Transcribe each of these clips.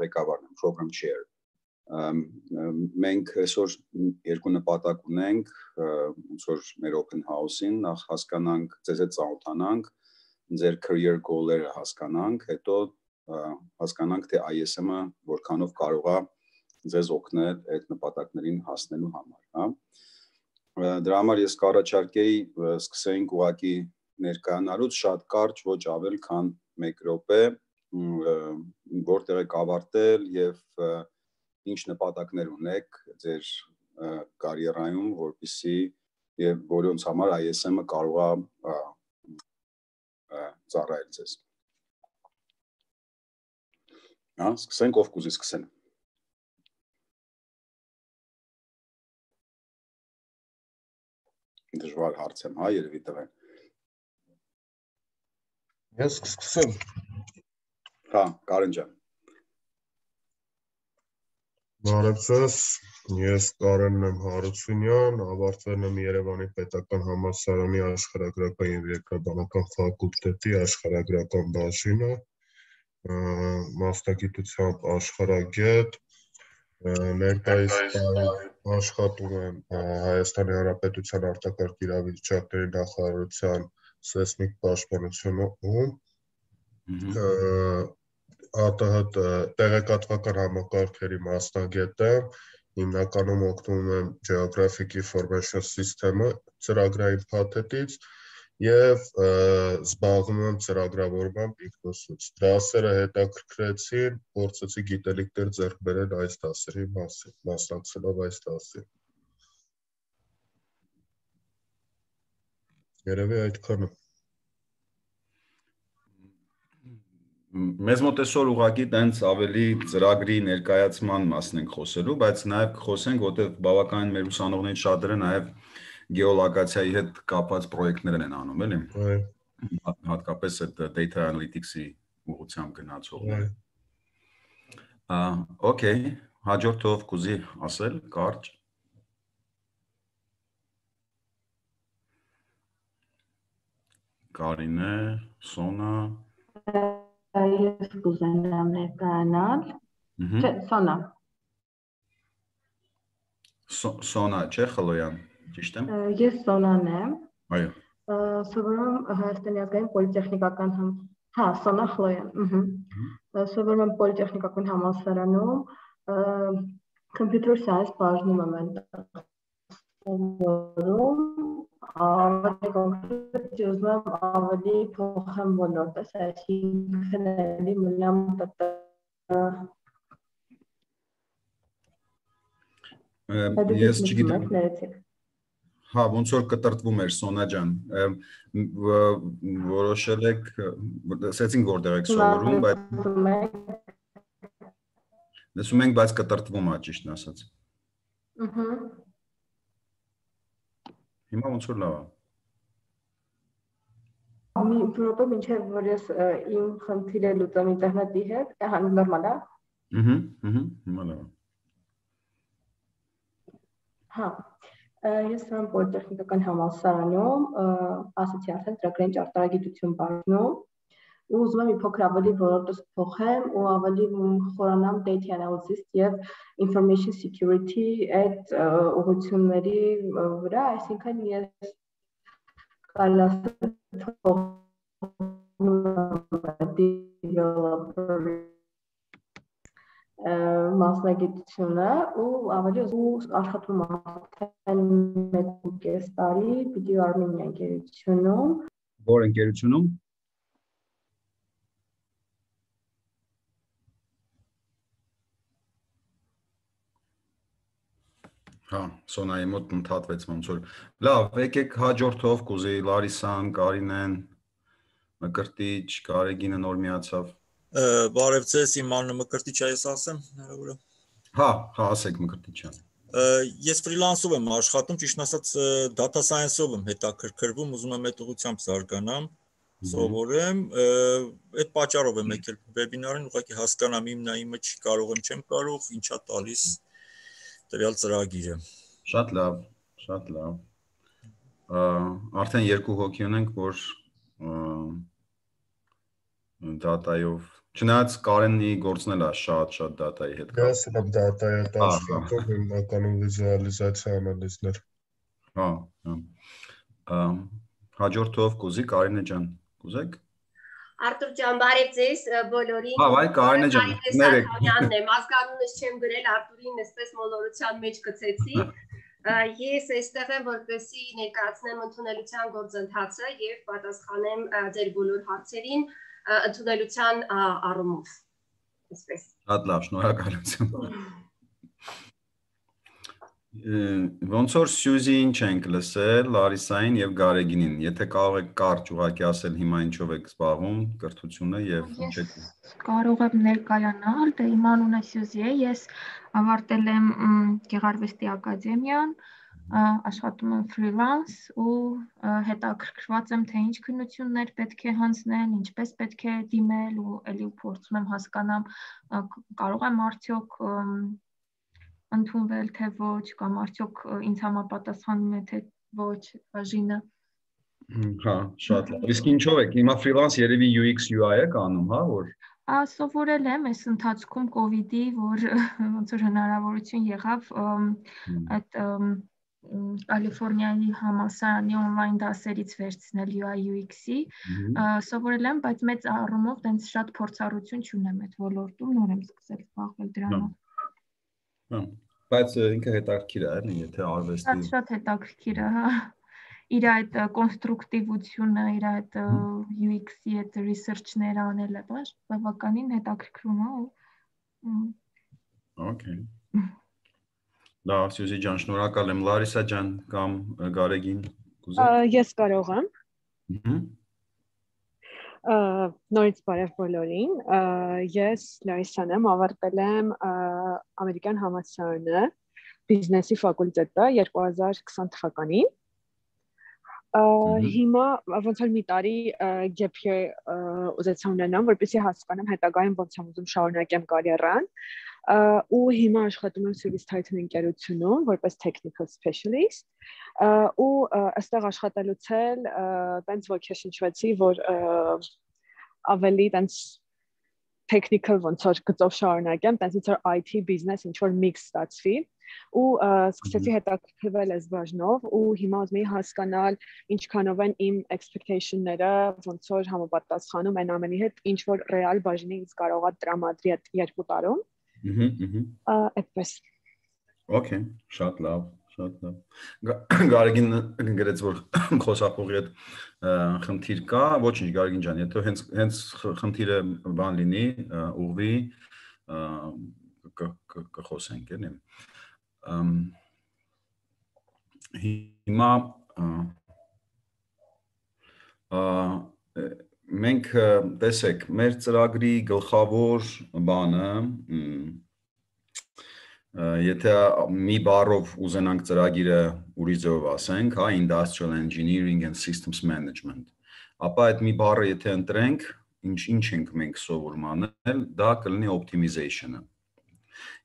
ղեկավարն եմ, program chair։ Մենք այսօր երկու նպատակ ունենք, ոնց որ մեր open house-ին, նախ հասկանանք, ձեզ հետ ծանոթանանք, ձեր career goal-երը հասկանանք, հետո հասկանանք, թե ISM-ը որքանով կարող է ձեզ օգնել այդ նպատակներին հասնելու համար, հա։ Դրա համար ես կառաջարկեի սկսենք ուղղակի ներկայանալուց շատ կարճ, ոչ ավել քան 1 րոպե, որտեղ եք ավարտել եւ ինչ նպատակներ ունեք ձեր կարիերայում, որպեսզի եւ որոնց համար ISM-ը կարող է ծառայել ձեզ։ Հա, սկսենք, ով կուզի սկսել։ Դժվար հարց եմ, հա, երևի տղեն։ Ես կսկսեմ։ Հա, Կարեն ջան։ Բարև ձեզ, ես Կարենն եմ Հարությունյան, ավարտվել եմ Երևանի պետական համալսարանի աշխարհագրական եւ երկրաբանական ֆակուլտետի աշխարհագրական բաժինը, մասնագիտությամբ աշխարհագետ, ներկայիս աշխատում եմ Հայաստանի Հանրապետության արտակարգ իրավիճակների նախարարության սեյսմիկ պաշտպանությունում, ԱՏՀ տեղեկատվական համակարգերի մասնագետ եմ, հիմնականում օգտվում եմ Geographic Information System-ը ծրագրային փաթեթից եւ զբաղվում եմ ծրագրավորմամբ ինքնուսուց։ Դասերը հետաքրքրեցին, փորձեցի գիտելիքներ ձեռք բերել այս դասերի մասին, մասնակցելով այս դասին։ Երևի այդքանը։ Մեզ մոտ այսօր ուղղակի տենց ավելի ծրագրի ներկայացման մասն ենք խոսելու, բայց նաև կխոսենք, որտեղ բավականին մեր ուսանողներից շատերը նաև գեոլոկացիայի հետ կապված պրոյեկտներ են անում, էլի։ Հատկապես այդ data analytics-ի ուղղությամբ գնացողները։ Okay, հաջորդով կուզի ասել, կարճ։ Կարինե, Սոնա։ Ես կուզենամ ներկայանալ։ Չէ, Սոնա։ Սոնա, չէ, Խլոյան, ճիշտ եմ։ Ես Սոնան եմ։ Այո։ Սովորում Հայաստանի ազգային պոլիտեխնիկական հա, Սոնա Խլոյան, Սովորում եմ պոլիտեխնիկական համալսարանում, computer science բաժնում եմ այնտեղ սովորում, ավելի կոնկրետ ուզում եմ ավելի փոխեմ ոլորտս, այսինքն էլի մնամ Ես չգիտեմ։ Հա, ոնց որ կտրտվում էր Սոնա ջան, որոշել եք, ասեցինք որտեղ եք սովորում, բայց լսում ենք, բայց կտրտվում է, ճիշտն ասած։ Հիմա ոնց որ լավ է։ Մի րոպե մինչև որ ես իմ խնդիրը լուծեմ ինտերնետի հետ, նորմալ է։ Հիմա լավ է։ Հա, ես եմ պոլիտեխնիկական համալսարանում, ասացի արդեն ծրագրային ճարտարագիտություն բաժնում, ու ուզում եմ մի փոքր ավելի ոլորտս փոխեմ ու ավելի խորանամ data analysis եւ information security այդ ուղղությունների վրա, այսինքն ես կարելի developer մասնագիտությունը ու ավելի աշխատում եմ 1.5 տարի Video Armenia ընկերությունում։ Որ ընկերությունում։ Հա, Սոնայի մոտ ընդհատվեց ոնց որ։ Լավ, եկեք հաջորդով կուզի Լարիսան, Կարինեն, Մկրտիչ, Կարեգինը նոր միացավ։ Բարև ձեզ, իմ անունը Մկրտիչ է, ես ասեմ, հնարավոր է։ Հա, ասեք Մկրտիչյան։ Ես ֆրիլանսով եմ աշխատում, ճիշտ ասած data science-ով եմ հետաքրքրվում, ուզում եմ այդ ուղղությամբ զարգանամ, սովորեմ, այդ պատճառով եմ եկել վեբինարին, ուղղակի հասկանամ իմն է, իմը չի կարող եմ, չեմ կարող, ինչա տալիս տվյալ ծրագիրը։ Շատ լավ, շատ լավ։ Արդեն 2 հոգի ունենք, որ դատայով Չնայած Կարենի գործն էլ է շատ դատայի հետ կապ։ Ես եմ դատայի հետ աշխատում, հիմնականում վիզուալիզացիա անալիզներ։ Հա։ Հաջորդով կուզի Կարինե ջան, կուզեք։ Արտուր ջան, բարև ձեզ բոլորին։ Հա, վայ Կարինե ջան, ներեք։ Սարյանն եմ, ազգանունս չեմ գրել, Արտուրին այսպես մոլորության մեջ գցեցի։ Ես այստեղ եմ, որպեսզի ներկայացնեմ ընդունելության գործընթացը եւ պատասխանեմ ձեր բոլոր հարցերին ընդունելության առումով։ Այսպես։ Շատ լավ, շնորհակալություն։ Ոնց որ Սյուզին չենք լսել, Լարիսային եւ Գարեգինին, եթե կարող եք կարճ ուղղակի ասել հիմա ինչով եք զբաղվում, կրթությունը եւ ինչ եք։ Կարող եմ ներկայանալ, դե իմ անունը Սյուզի է, ես ավարտել եմ Գեղարվեստի ակադեմիան, աշխատում եմ ֆրիլանս ու հետաքրքրված եմ թե ինչ քննություններ պետք է հանձնել, ինչպես պետք է դիմել ու ելի փորձում եմ հասկանամ կարող եմ արդյոք ընդունվել թե ոչ կամ արդյոք ինձ համապատասխանում է թե ոչ բաժինը։ Հա, շատ լավ։ Իսկ ինչով եք հիմա ֆրիլանս երևի UX UI եք անում, հա, որ Սովորել եմ այս ընթացքում COVID-ի, որ ոնց որ հնարավորություն եղավ այդ Կալիֆոռնիայի համալսարանի on-line դասերից վերցնել UI UX-ի, սովորել եմ, բայց մեծ առումով դենց շատ փորձառություն չունեմ այդ ոլորտում, նոր եմ սկսել զբաղվել դրանով։ Բայց ինքը հետաքրքիր է, էլի, եթե արվեստի Շատ հետաքրքիր է, հա։ Իր այդ կոնստրուկտիվությունը, իր այդ UX-ի այդ research-ները անելը, բավականին հետաքրքրում է։ Okay։ Լավ, Սյուզի ջան, շնորհակալ եմ։ Լարիսա ջան կամ Գարեգին, կուզեք։ Ես կարող եմ։ Նորից բարև բոլորին։ Ես Լարիսան եմ, ավարտել եմ ամերիկյան համալսարանը, բիզնեսի ֆակուլտետը 2020 թվականին։ Հիմա ոնց որ մի տարի gap year ուզեցա ունենամ, որպեսզի հասկանամ հետագայում ոնց եմ ուզում շարունակեմ կարիերան։ Ու հիմա աշխատում եմ Service Titan ընկերությունում որպես technical specialist ու այստեղ աշխատելուց էլ տենց ոգեշնչվեցի, որ ավելի տենց technical ոնց որ գծով շարունակեմ, տենց ինչ որ IT business ինչ որ mix ստացվի ու սկսեցի հետաքրքրվել այս բաժնով ու հիմա ուզում եի հասկանալ ինչքանով են իմ expectation-ները ոնց որ համապատասխանում են ամենի հետ, ինչ որ real բաժինը ինձ կարողա տրամադրի այդ 2 տարում։ Այդպես։ Okay, շատ լավ, շատ լավ։ Գարեգին գրեց, որ խոսափողի հետ խնդիր կա, ոչինչ Գարեգին ջան, եթե հենց խնդիրը բան լինի, ուղղվի, կխոսենք, էլի։ Հիմա մենք տեսեք, մեր ծրագրի գլխավոր բանը, եթե մի բառով ուզենանք ծրագիրը ուրիշ ձևով ասենք, հա, Industrial Engineering and Systems Management, ապա այդ մի բառը եթե ընտրենք, ինչ ենք մենք սովորում անել, դա կլինի optimization-ը։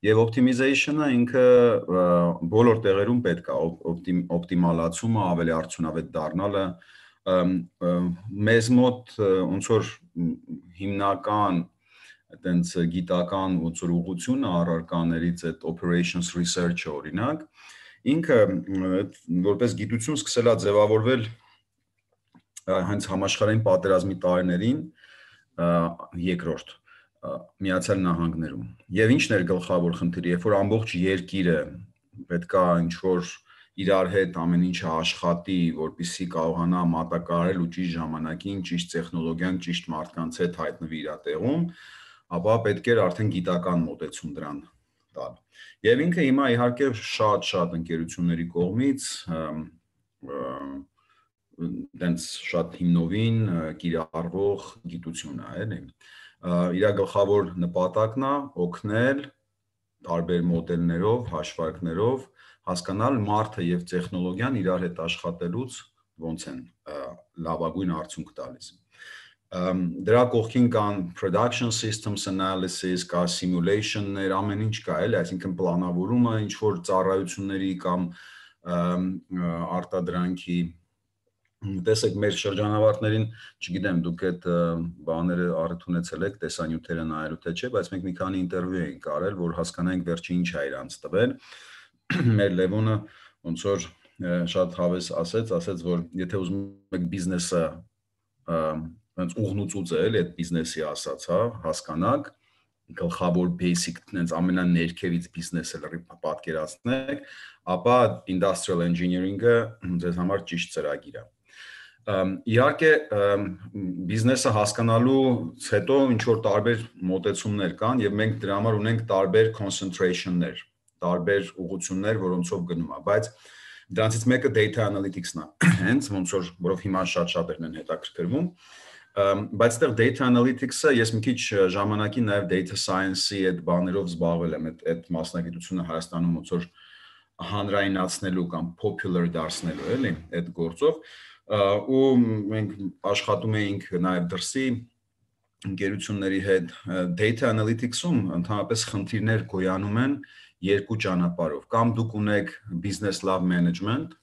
Եվ optimization-ը ինքը բոլոր տեղերում պետք է օպտիմալացումը, ավելի արդյունավետ դառնալը, մեզ մոտ ոնց որ հիմնական այտենց գիտական ոնց որ ուղղությունը առարկաներից այդ operations research-ը օրինակ, ինքը որպես գիտություն սկսել է ձևավորվել հենց համաշխարհային պատերազմի տարիներին, երկրորդ Միացյալ Նահանգներում։ Եվ ինչն էր գլխավոր խնդիրը, երբ որ ամբողջ երկիրը պետքա ինչ-որ իրար հետ ամեն ինչը աշխատի, որպեսզի կարողանա մատակարարել ու ճիշտ ժամանակին, ճիշտ տեխնոլոգիան, ճիշտ մարդկանց հետ հայտնվի իր տեղում, ապա պետք էր արդեն գիտական մոտեցում դրան տալ։ Եվ ինքը հիմա իհարկե շատ ընկերությունների կողմից դենց շատ հիմնովին կիրառվող գիտություն է, էլի։ Իր գլխավոր նպատակն է օգնել տարբեր մոդելներով, հաշվարկներով հասկանալ մարդը եւ տեխնոլոգիան իրար հետ աշխատելուց ոնց են լավագույն արդյունք տալիս։ Դրա կողքին կան production systems analysis, կա simulation-ներ, ամեն ինչ կա, էլի, այսինքն պլանավորումը, ինչ որ ծառայությունների կամ արտադրանքի Տեսեք, մեր շրջանավարտներին, չգիտեմ, դուք այդ բաները առիթ ունեցել եք, տեսանյութերը նայելու թե չէ, բայց մենք մի քանի ինտերվյու ենք արել, որ հասկանանք վերջը ինչ է իրանց տվել։ Մեր Լևոնը ոնց որ շատ հավես ասեց, որ եթե ուզում եք բիզնեսը ոնց ուղնուծուց է, այդ բիզնեսի ասած, հա, հասկանաք, գլխավոր basic, այնց ամենաներքևից բիզնեսը լրիվ պատկերացնեք, ապա industrial engineering-ը ձեզ համար ճիշտ ծրագիր է։ Իհարկե բիզնեսը հասկանալուց հետո ինչ որ տարբեր մոտեցումներ կան եւ մենք դրա համար ունենք տարբեր concentration-ներ, տարբեր ուղղություններ, որոնցով գնում է, բայց դրանցից մեկը data analytics-ն է, հենց ոնց որ որով հիմա շատ-շատերն են հետաքրքրվում, բայց այդտեղ data analytics-ը ես մի քիչ ժամանակի նաեւ data science-ի այդ բաներով զբաղվել եմ, այդ մասնագիտությունը Հայաստանում ոնց որ հանրայնացնելու կամ popular դարձնելու, էլի, այդ գործով ու մենք աշխատում էինք նաև դրսի ընկերությունների հետ data analytics-ում ընդհանրապես խնդիրներ գոյանում են երկու ճանապարհով կամ դուք ունեք business lab management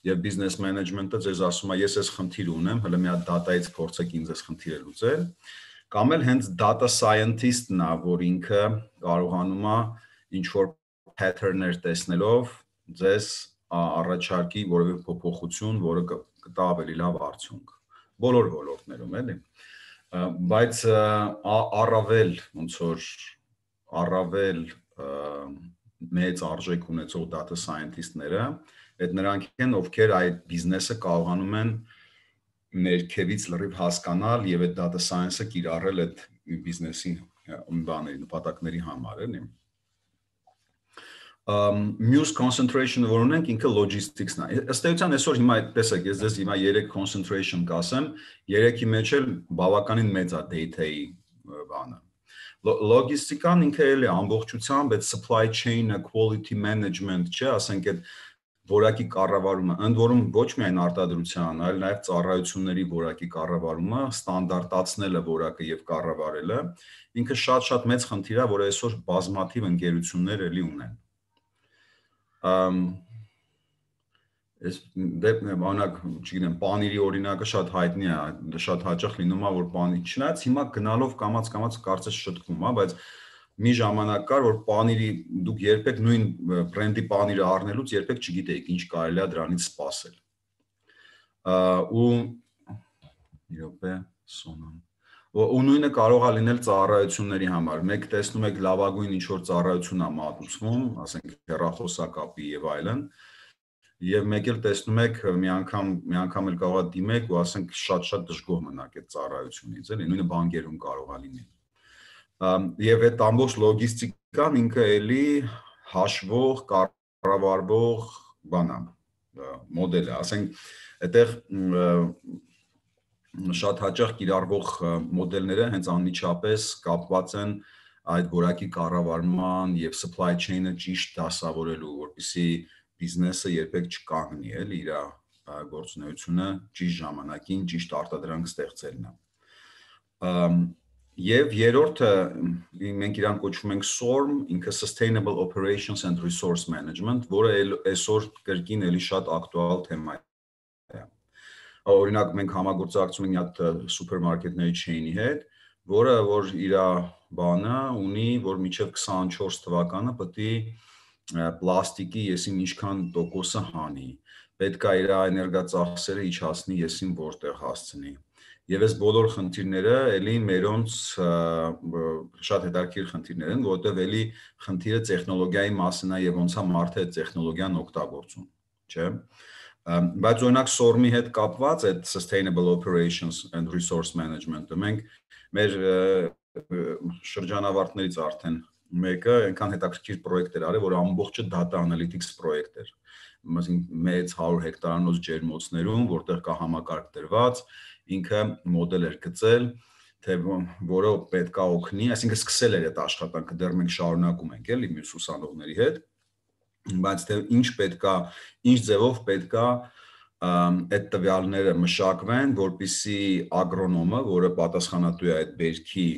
եւ business management-ը ձեզ ասում է ես այս խնդիրը ունեմ հələ մի հատ data-ից փորձեք ինձ այս խնդիրը լուծել կամ էլ հենց data scientist-ն է որ ինքը կարողանում է ինչ որ pattern-ներ տեսնելով ձեզ առաջարկի որևէ փոփոխություն որը կտա ավելի լավ արդյունք բոլոր ոլորտներում էլի բայց առավել ոնց որ առավել մեծ արժեք ունեցող data scientist-ները այդ նրանք են ովքեր այդ բիզնեսը կարողանում են ներքևից լրիվ հասկանալ եւ այդ data science-ը կիրառել այդ բիզնեսի բաների նպատակների համար էլի Muse concentration-ը որ ունենք ինքը logistics-ն է։ Ըստ էության այսօր հիմա տեսեք, ես ձեզ հիմա 3 concentration կասեմ, 3-ի մեջ էլ բավականին մեծ է data-ի բանը։ Logistic-ան ինքը էլ է ամբողջությամբ այդ supply chain-ը, quality management, չէ, ասենք այդ որակի կառավարումը, ընդ որում ոչ միայն արտադրության, այլ նաև ծառայությունների որակի կառավարումը, ստանդարտացնելը որակը եւ կառավարելը, ինքը շատ-շատ մեծ խնդիր է, որ այսօր բազմաթիվ ընկերություններ էլի ունեն։ Ես բանակ, չգիտեմ, պանիրի օրինակը շատ հայտնի է, շատ հաճախ լինում է, որ պանիր չնայած հիմա գնալով կամաց կարծես շտկվում է, բայց մի ժամանակ կար, որ պանիրի դուք երբեք նույն բրենդի պանիրը առնելուց երբեք չգիտեիք ինչ կարելի է դրանից սպասել։ Ու նույնը կարող է լինել ծառայությունների համար։ Մեկ տեսնում եք լավագույն ինչ որ ծառայություն է մատուցվում, ասենք հեռախոսակապի եւ այլն, եւ մեկ էլ տեսնում եք մի անգամ էլ կարող է դիմեք ու ասենք շատ դժգոհ մնաք այդ ծառայությունից, էլի, նույնը բանկերում կարող է լինել։ Եվ այդ ամբողջ լոգիստիկան ինքը էլի հաշվող, կառավարվող բան է, մոդել է, ասենք այդտեղ շատ հաճախ կիրառվող մոդելները հենց անմիջապես կապված են այդ որակի կառավարման եւ supply chain-ը ճիշտ դասավորելու, որպեսզի բիզնեսը երբեք չկանգնի, էլի իր գործունեությունը ճիշտ ժամանակին ճիշտ արտադրանք ստեղծելն է։ Եվ երրորդը մենք իրան կոչվում ենք SORM, ինքը Sustainable Operations and Resource Management, որը այսօր կրկին էլի շատ ակտուալ թեմա է։ Օրինակ մենք համագործակցում ենք մի հատ սուպերմարկետների chain-ի հետ, որը որ իր բանը ունի, որ մինչև 24 թվականը պետք է պլաստիկի եսին ինչքան տոկոսը հանի, պետք է իր էներգածախսերը իջացնի եսին որտեղ հասցնի։ Եվ այս բոլոր խնդիրները էլի մերոնց շատ հետաքրքիր խնդիրներ են, որովհետև էլի խնդիրը տեխնոլոգիայի մասին է եւ ոնց է մարդը այդ տեխնոլոգիան օգտագործում, չէ՞։ Բայց օրինակ SORM-ի հետ կապված այդ Sustainable Operations and Resource Management-ը մենք մեր շրջանավարտներից արդեն մեկը այնքան հետաքրքիր պրոյեկտ էր արել, որ ամբողջը data analytics պրոյեկտ էր։ Մեծ 100 հեկտարանոց ջերմոցներում, որտեղ կա համակարգ դրված, ինքը մոդել էր գծել, թե որը պետք է օգնի, այսինքն սկսել էր այդ աշխատանքը, դեռ մենք շարունակում ենք, էլի մյուս ուսանողների հետ, բայց թե ինչ պետք է, ինչ ձևով պետք է այդ տվյալները մշակվեն, որպեսզի ագրոնոմը, որը պատասխանատու է այդ բերքի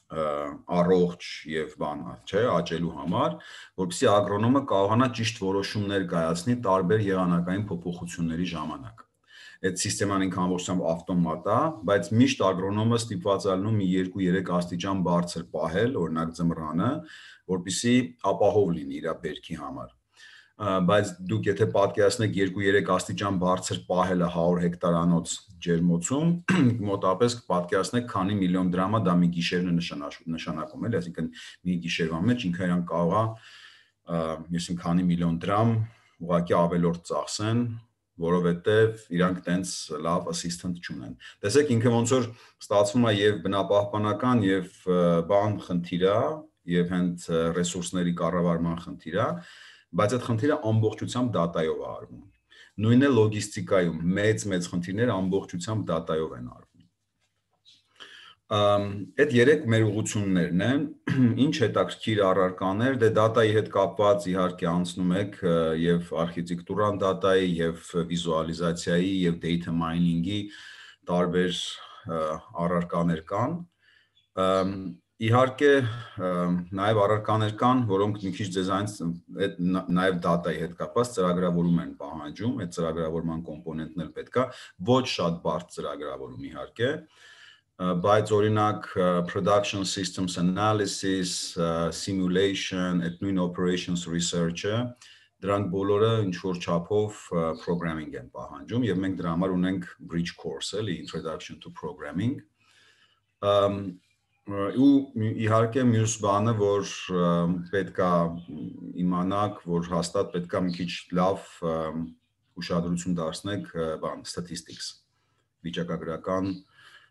առողջ եւ բան, չէ, աճելու համար, որպեսզի ագրոնոմը կարողանա ճիշտ որոշումներ կայացնի տարբեր եղանակային փոփոխությունների ժամանակ։ այդ սիստեման ինքը ամբողջությամբ ավտոմատ է, բայց միշտ ագրոնոմը ստիպված է լինում մի 2-3 աստիճան բարձր պահել, օրինակ ձմռանը, որպեսզի ապահով լինի իր բերքի համար։ Բայց դուք եթե պատկերացնեք 2-3 աստիճան բարձր պահելը 100 հեկտարանոց ջերմոցում, մոտավորապես պատկերացնեք քանի միլիոն դրամա դա մի գիշերն է նշանակում, էլի, այսինքն մի գիշերվա մեջ ինքը իրան կարող է, այսինքն քանի միլիոն դրամ ուղղակի ավելորդ ծախսեն, որովհետև իրանք տենց լավ assistant չունեն։ Տեսեք ինքը ոնց որ ստացվում է եւ բնապահպանական եւ բան խնդիր է, եւ հենց ռեսուրսների կառավարման խնդիր է, բայց այդ խնդիրը ամբողջությամբ դատայով է արվում։ Նույնն է լոգիստիկայում, մեծ խնդիրները ամբողջությամբ դատայով են արվում։ Այդ 3 մեր ուղղություններն են, ինչ հետաքրքիր առարկաներ, դե դատայի հետ կապված իհարկե անցնում եք եւ արխիտեկտուրան դատայի եւ վիզուալիզացիայի եւ data mining-ի տարբեր առարկաներ կան։ Իհարկե նաև առարկաներ կան, որոնք մի քիչ ձեզանից նաև դատայի հետ կապված ծրագրավորում են պահանջում, այդ ծրագրավորման կոմպոնենտն էլ պետք է, ոչ շատ բարդ ծրագրավորում իհարկե, բայց օրինակ production systems analysis, simulation, այդ նույն operations research-ը, դրանք բոլորը ինչ որ չափով programming են պահանջում եւ մենք դրա համար ունենք bridge course, էլի introduction to programming։ Ու իհարկե մյուս բանը, որ պետքա իմանաք, որ հաստատ պետքա մի քիչ լավ ուշադրություն դարձնեք բան statistics, վիճակագրական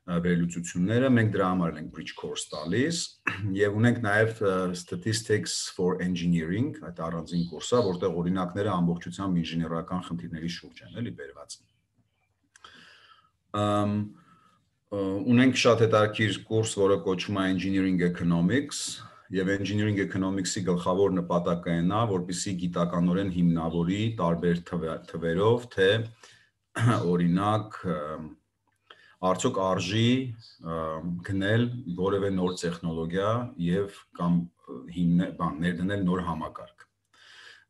վերլուծությունները, մենք դրա համար ենք bridge course տալիս եւ ունենք նաեւ statistics for engineering, այդ առանձին կուրսը, որտեղ օրինակները ամբողջությամբ ինժեներական խնդիրների շուրջ են, էլի բերված։ Ունենք շատ հետաքրքիր կուրս, որը կոչվում է Engineering Economics, եւ Engineering Economics-ի գլխավոր նպատակը այն է, որպեսզի գիտականորեն հիմնավորի տարբեր թվերով, թե օրինակ արդյոք արժի գնել որևէ նոր տեխնոլոգիա եւ կամ ներդնել նոր համակարգ։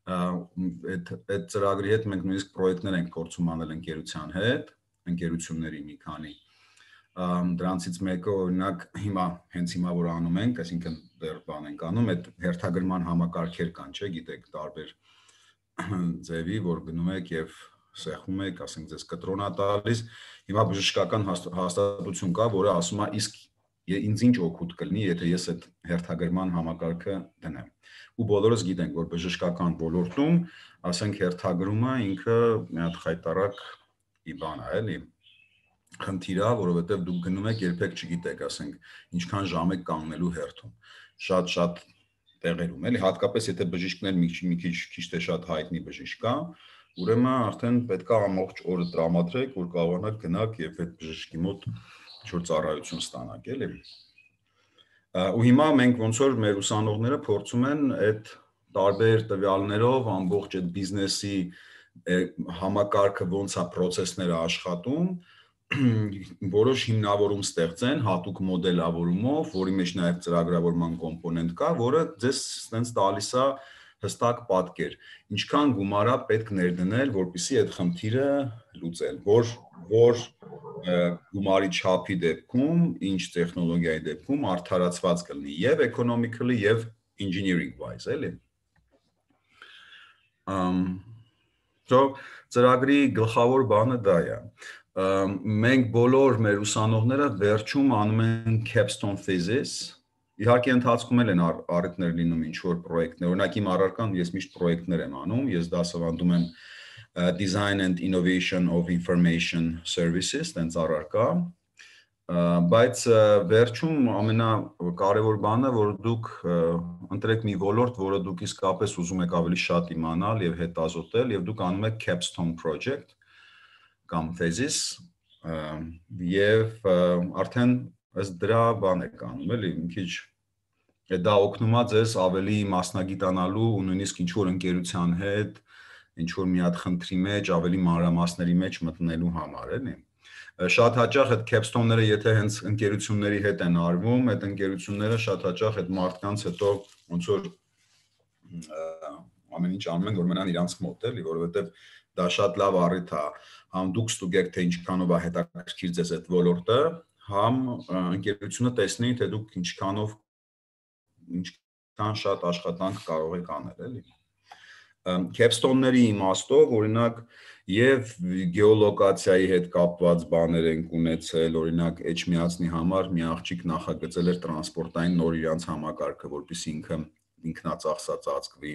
Այդ ծրագրի հետ մենք նույնիսկ պրոյեկտներ ենք գործում անել ընկերության հետ, ընկերությունների մի քանի։ Դրանցից մեկը օրինակ հենց հիմա որ անում ենք, այսինքն դեռ բան ենք անում, այդ հերթագրման համակարգեր կան, չէ՞, գիտեք, տարբեր ձևի, որ գնում եք եւ սեղում եք, ասենք ձեզ կտրոնա տալիս, հիմա բժշկական հաստատություն կա, որը ասում է, իսկ ինձ ինչ օգուտ կլինի, եթե ես այդ հերթագրման համակարգը դնեմ։ Ու բոլորս գիտենք, որ բժշկական ոլորտում, ասենք հերթագրումը ինքը մի հատ խայտարակ բան է, էլի, խնդիր է, որովհետև դուք գնում եք երբեք չգիտեք, ասենք, ինչքան ժամ եք կանգնելու հերթում։ Շատ տեղերում, էլի, հատկապես եթե բժիշկներ մի քիչ թե շատ հայտնի բժիշկ կա, ուրեմն արդեն պետք է ամբողջ օրը տրամադրեք, որ կարողանաք գնաք եւ այդ բժշկի մոտ ինչ-որ ծառայություն ստանաք, էլի։ Ու հիմա մենք ոնց որ մեր ուսանողները փորձում են այդ տարբեր տվյալներով ամբողջ այդ բիզնեսի համակարգը ոնց է process-ները աշխատում, որոշ հիմնավորում ստեղծեն հատուկ մոդելավորումով, որի մեջ նաեւ ծրագրավորման կոմպոնենտ կա, որը ձեզ ստենց տալիս է հստակ պատկեր, ինչքան գումար է պետք ներդնել, որպեսզի այդ խնդիրը լուծել, որ գումարի չափի դեպքում, ինչ տեխնոլոգիայի դեպքում արդարացված կլինի եւ economically եւ engineering wise, էլի։ Ծրագրի գլխավոր բանը դա է։ Մենք բոլոր մեր ուսանողները վերջում անում են capstone thesis, իհարկե ընթացքում են առիթներ լինում ինչ-որ պրոյեկտներ, օրինակ իմ առարկան ես միշտ պրոյեկտներ եմ անում, ես դասավանդում եմ Design and Innovation of Information Services, տենց առարկա, բայց վերջում ամենակարևոր բանը, որ դուք ընտրեք մի ոլորտ, որը դուք իսկապես ուզում եք ավելի շատ իմանալ եւ հետազոտել, եւ դուք անում եք capstone project կամ thesis, եւ արդեն ըստ դրա բան եք անում, էլի, մի քիչ դա օգնում է ձեզ ավելի մասնագիտանալու ու նույնիսկ ինչ-որ ընկերության հետ, ինչ-որ մի հատ խնդրի մեջ, ավելի մանրամասների մեջ մտնելու համար, էլի։ Շատ հաճախ այդ capstone-ները, եթե հենց ընկերությունների հետ են արվում, այդ ընկերությունները շատ հաճախ այդ մարդկանց հետո ոնց որ ամեն ինչ անում են, որ մնան իրանց մոտ, էլի, որովհետև դա շատ լավ առիթ է, համ դուք ստուգեք, թե ինչքանով է հետաքրքիր ձեզ այդ ոլորտը, համ ընկերությունը տեսնի, թե դուք ինչքան շատ աշխատանք կարող եք անել, էլի։ Capstone-ների իմաստով, օրինակ, եւ գեոլոկացիայի հետ կապված բաներ են ունեցել, օրինակ, Էջմիածնի համար մի աղջիկ նախագծել էր տրանսպորտային նոր իրանց համակարգը, որպեսզի ինքը ինքնածախսած ծածկվի։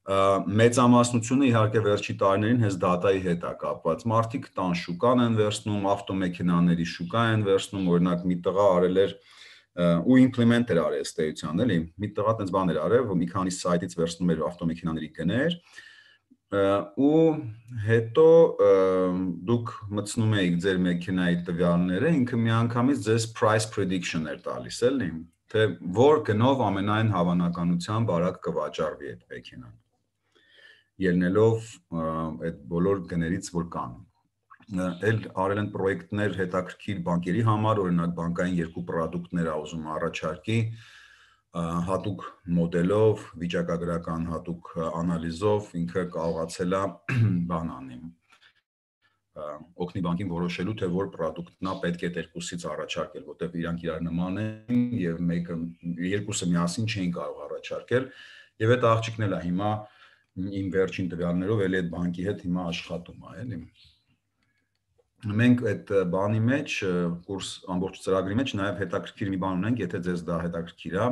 Մեծամասնությունը իհարկե վերջի տարիներին հենց դատայի հետ է կապված։ Մարդիկ տան շուկան են վերցնում, ավտոմեքենաների շուկա են վերցնում, օրինակ մի տղա արել էր ու implement էր արել ըստ էության, էլի։ Մի տղա տենց բան էր արել, որ մի քանի սայթից վերցնում էր ավտոմեքենաների գներ, ու հետո դուք մտցնում եք ձեր մեքենայի տվյալները, ինքը միանգամից ձեզ price prediction էր տալիս, էլի, թե որ գնով ամենայն հավանականությամբ արագ կվաճառվի այդ մեքենան, ելնելով այդ բոլոր գներից, որ կան։ Էլ արել են պրոյեկտներ հետաքրքիր բանկերի համար, օրինակ բանկային երկու պրոդուկտներ ա ուզում առաջարկի, հատուկ մոդելով, վիճակագրական հատուկ անալիզով ինքը կարողացել է բան անի, օգնի բանկին որոշելու, թե որ պրոդուկտն է պետք է այդ երկուսից առաջարկել, որտեղ իրանք իրար նման են եւ երկուսը միասին չէին կարող առաջարկել, եւ այդ աղջիկն էլ է հիմա իմ վերջին տվյալներով էլի այդ բանկի հետ հիմա աշխատում է, էլի։ Մենք այդ բանի մեջ, կուրս ամբողջ ծրագրի մեջ նաև հետաքրքիր մի բան ունենք, եթե ձեզ դա հետաքրքիր է,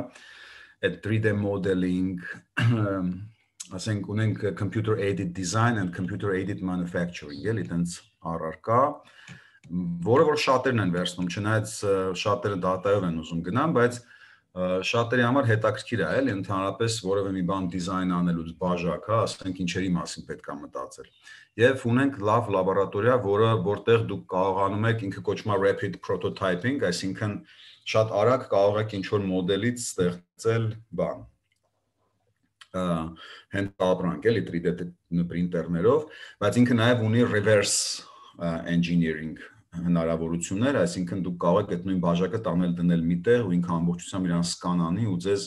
այդ 3D modeling, ասենք ունենք computer aided design and computer aided manufacturing, էլի տենց առարկա, որը որ շատերն են վերցնում, չնայած շատերը դատայով են ուզում գնան, բայց շատերի համար հետաքրքիր է, էլի ընդհանրապես որևէ մի բան դիզայն անելուց բաժակ, հա, ասենք ինչերի մասին պետք է մտածել։ Եվ ունենք լավ լաբորատորիա, որտեղ դուք կարողանում եք, ինքը կոչվում է rapid prototyping, այսինքն շատ արագ կարող եք ինչ-որ մոդելից ստեղծել բան։ Հենց ապրանք, էլի 3D պրինտերներով, բայց ինքը նաև ունի reverse engineering հնարավորություններ, այսինքն դուք կարող եք այդ նույն բաժակը տանել դնել միտեղ ու ինքը ամբողջությամբ իրան սկանանի ու ձեզ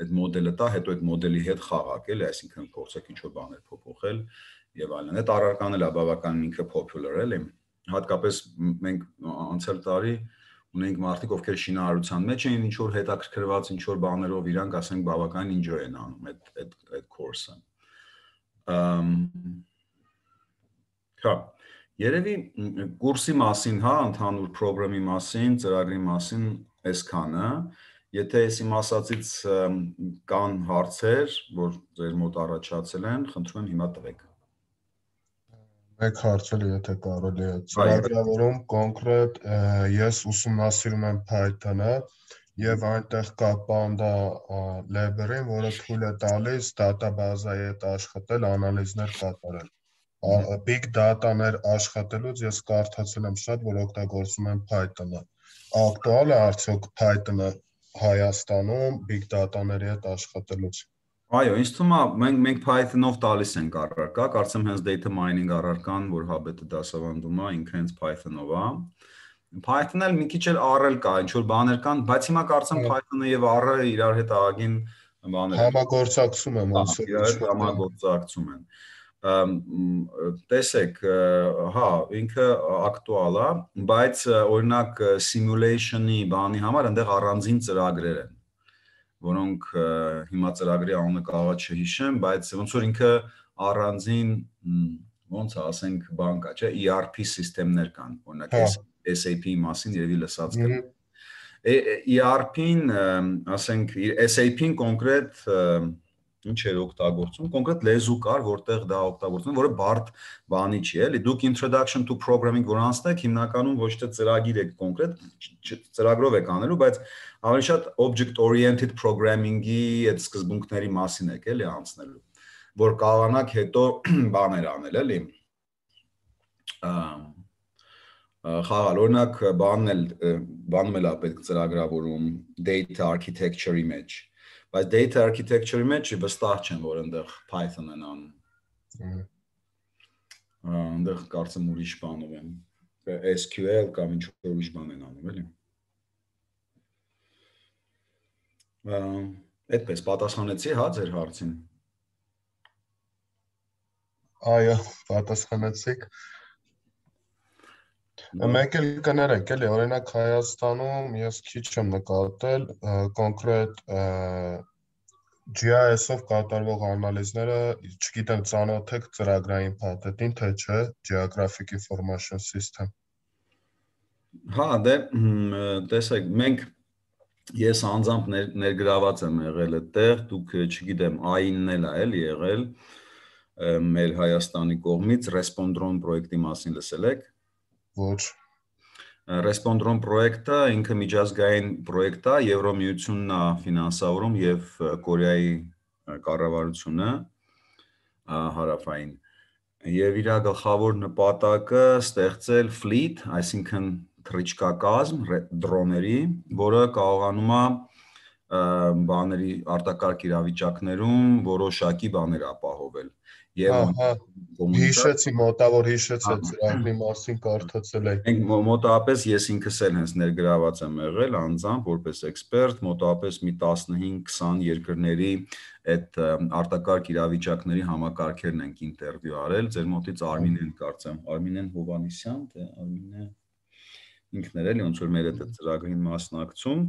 այդ մոդելը տա, հետո այդ մոդելի հետ խաղաք, էլի, այսինքն փորձեք ինչ-որ բաներ փոփոխել եւ այլն։ Այդ առարկանն էլ է բավականին ինքը popular, էլի։ Հատկապես մենք անցյալ տարի ունենք մարդիկ, ովքեր շինարարության մեջ էին ինչ-որ հետաքրքրված ինչ-որ բաներով, իրանք ասենք բավականին enjoy են անում այդ course-ը։ Հա, երևի կուրսի մասին, հա, ընդհանուր պրոգրամի մասին, ծրագրի մասին այսքանը, եթե ես իմ ասածից կան հարցեր, որ ձեր մոտ առաջացել են, խնդրում եմ հիմա տվեք։ Մեկ հարց էլ եթե կարելի է, ծրագրավորում կոնկրետ ես ուսումնասիրում եմ Python-ը եւ այնտեղ կա Panda library-ն, որը թույլ է տալիս դատաբազայի հետ աշխատել, անալիզներ կատարել։ Big data-ներ աշխատելուց ես կարդացել եմ շատ, որ օգտագործում են Python-ը։ Ակտուալ է արդյոք Python-ը Հայաստանում big data-ների հետ աշխատելուց։ Այո, ինձ թվում է մենք Python-ով տալիս ենք առարկա, կարծեմ հենց data mining առարկան, որ Hub-ը դասավանդում է, ինքը հենց Python-ով է։ Python-ը մի քիչ էլ R-ել կա, ինչ որ բաներ կան, բայց հիմա կարծեմ Python-ը եւ R-ը իրար հետ աղագին բաներ համագործակցում են, ոնց որ իրար հետ համագործակցում են։ Տեսեք, հա, ինքը ակտուալ է, բայց օրինակ simulation-ի բանի համար այնտեղ առանձին ծրագրեր են, որոնք հիմա ծրագրի անունը կարող է չհիշեմ, բայց ոնց որ ինքը առանձին ոնց է, ասենք բան կա, չէ, ERP սիստեմներ կան, օրինակ SAP-ի մասին երևի լսած կլինի։ ERP-ին, ասենք SAP-ին կոնկրետ ինչ էր օգտագործում, կոնկրետ լեզու կար, որտեղ դա օգտագործում, որը բարդ բանի չի, էլի։ Դուք introduction to programming որ անցնեք, հիմնականում ոչ թե ծրագիր եք կոնկրետ, ծրագրով եք անելու, բայց ավելի շատ object oriented programming-ի այդ սկզբունքների մասին եք, էլի, անցնելու, որ կարողանաք հետո բաներ անել, էլի։ Խաղալ, օրինակ բանում էլ է պետք ծրագրավորում data architecture-ի մեջ, բայց data architecture-ի մեջ վստահ չեմ, որ այնտեղ Python են անում։ Այնտեղ կարծեմ ուրիշ բանով են, SQL կամ ինչ-որ ուրիշ բան են անում, էլի։ Այդպես պատասխանեցի, հա, ձեր հարցին։ Այո, պատասխանեցիք։ Մեկ էլ կներեք, էլի, օրինակ Հայաստանում ես քիչ եմ նկատել կոնկրետ GIS-ով կատարվող անալիզները, չգիտեմ, ծանոթ եք ծրագրային փաթեթին, թե չէ, Geographic Information System։ Հա, դե տեսեք, մենք ես անձամբ ներգրաված եմ եղել այդտեղ, դուք չգիտեմ, AI-ն էլ է էլի եղել մեր Հայաստանի կողմից Respondron պրոյեկտի մասին լսել եք։ Ոչ։ Respondron պրոյեկտը ինքը միջազգային պրոյեկտ է, Եվրոմիությունն է ֆինանսավորում եւ Կորեայի կառավարությունը հարավային։ Եվ իր գլխավոր նպատակը ստեղծել fleet, այսինքն թռիչքակազմ դրոների, որը կարողանում է բաների արտակարգ իրավիճակներում որոշակի բաներ ապահովել։ Եվ հիշեցի, մոտավոր հիշեցի ծրագրի մասին կարդացել եք։ Մենք մոտավորապես ես ինքս էլ հենց ներգրաված եմ եղել անձամբ որպես էքսպերտ, մոտավորապես մի 15-20 երկրների այդ արտակարգ իրավիճակների համակարգերն ենք ինտերվյու արել, ձեր մոտից Արմինեն կարծեմ, Արմինեն Հովանիսյան, թե Արմինե ինքն էր էլի ոնց որ մեր այդ ծրագրին մասնակցում։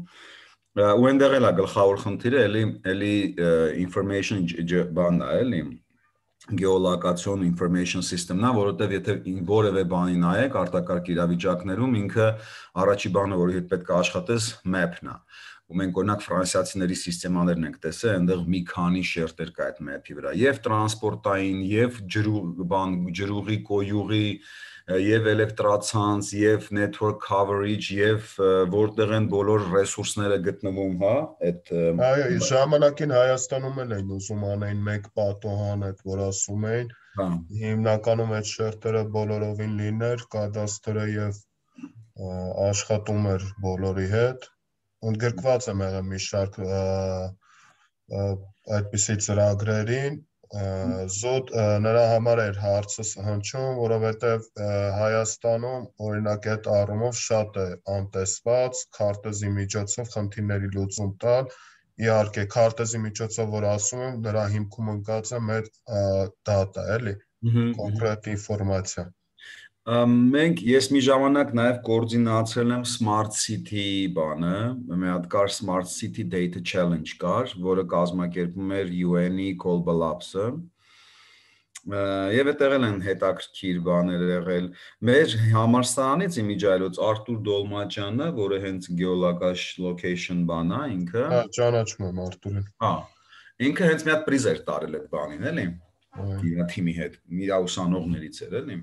Ու այնտեղ էլ է գլխավոր խնդիրը, էլի information բանն է, էլի geolocation information system-ն է, որովհետև եթե որևէ բանի նայեք արտակարգ իրավիճակներում, ինքը առաջի բանը, որի հետ պետք է աշխատես, map-ն է։ Ու մենք օրինակ ֆրանսիացիների սիստեմաներն ենք տեսել, այնտեղ մի քանի շերտեր կա այդ map-ի վրա, եւ տրանսպորտային, եւ ջրուղի, կոյուղի, եւ էլեկտրացանց, եւ network coverage, եւ որտեղ են բոլոր ռեսուրսները գտնվում, հա, այդ Այո, ժամանակին Հայաստանում էլ էին ուզում անեն մեկ պատոհան, այդ որ ասում էին, հիմնականում այդ շերտերը բոլորովին լիներ, կադաստրը եւ աշխատում էր բոլորի հետ, ընդգրկված եմ եղել մի շարք այդպիսի ծրագրերին, զուտ նրա համար էր հարցս հնչում, որովհետև Հայաստանում օրինակ այդ առումով շատ է անտեսված քարտեզի միջոցով խնդիրների լուծում տալ, իհարկե քարտեզի միջոցով որ ասում եմ, նրա հիմքում ընկած է մեր data, էլի, կոնկրետ ինֆորմացիա։ Ես մի ժամանակ նաև կոորդինացրել եմ Smart City բանը, մի հատ կար Smart City Data Challenge կար, որը կազմակերպում էր UN-ի Global Labs-ը։ Եվ այդտեղ են հետաքրքիր բաներ եղել։ Մեր համալսարանից իմիջայլոց Արտուր Դոլմաջյանը, որը հենց geolocation բան է, ինքը։ Հա, ճանաչում եմ Արտուրին։ Հա, ինքը հենց մի հատ պրիզ էր տարել այդ բանին, էլի։ Իր թիմի հետ, իր ուսանողներից էր, էլի։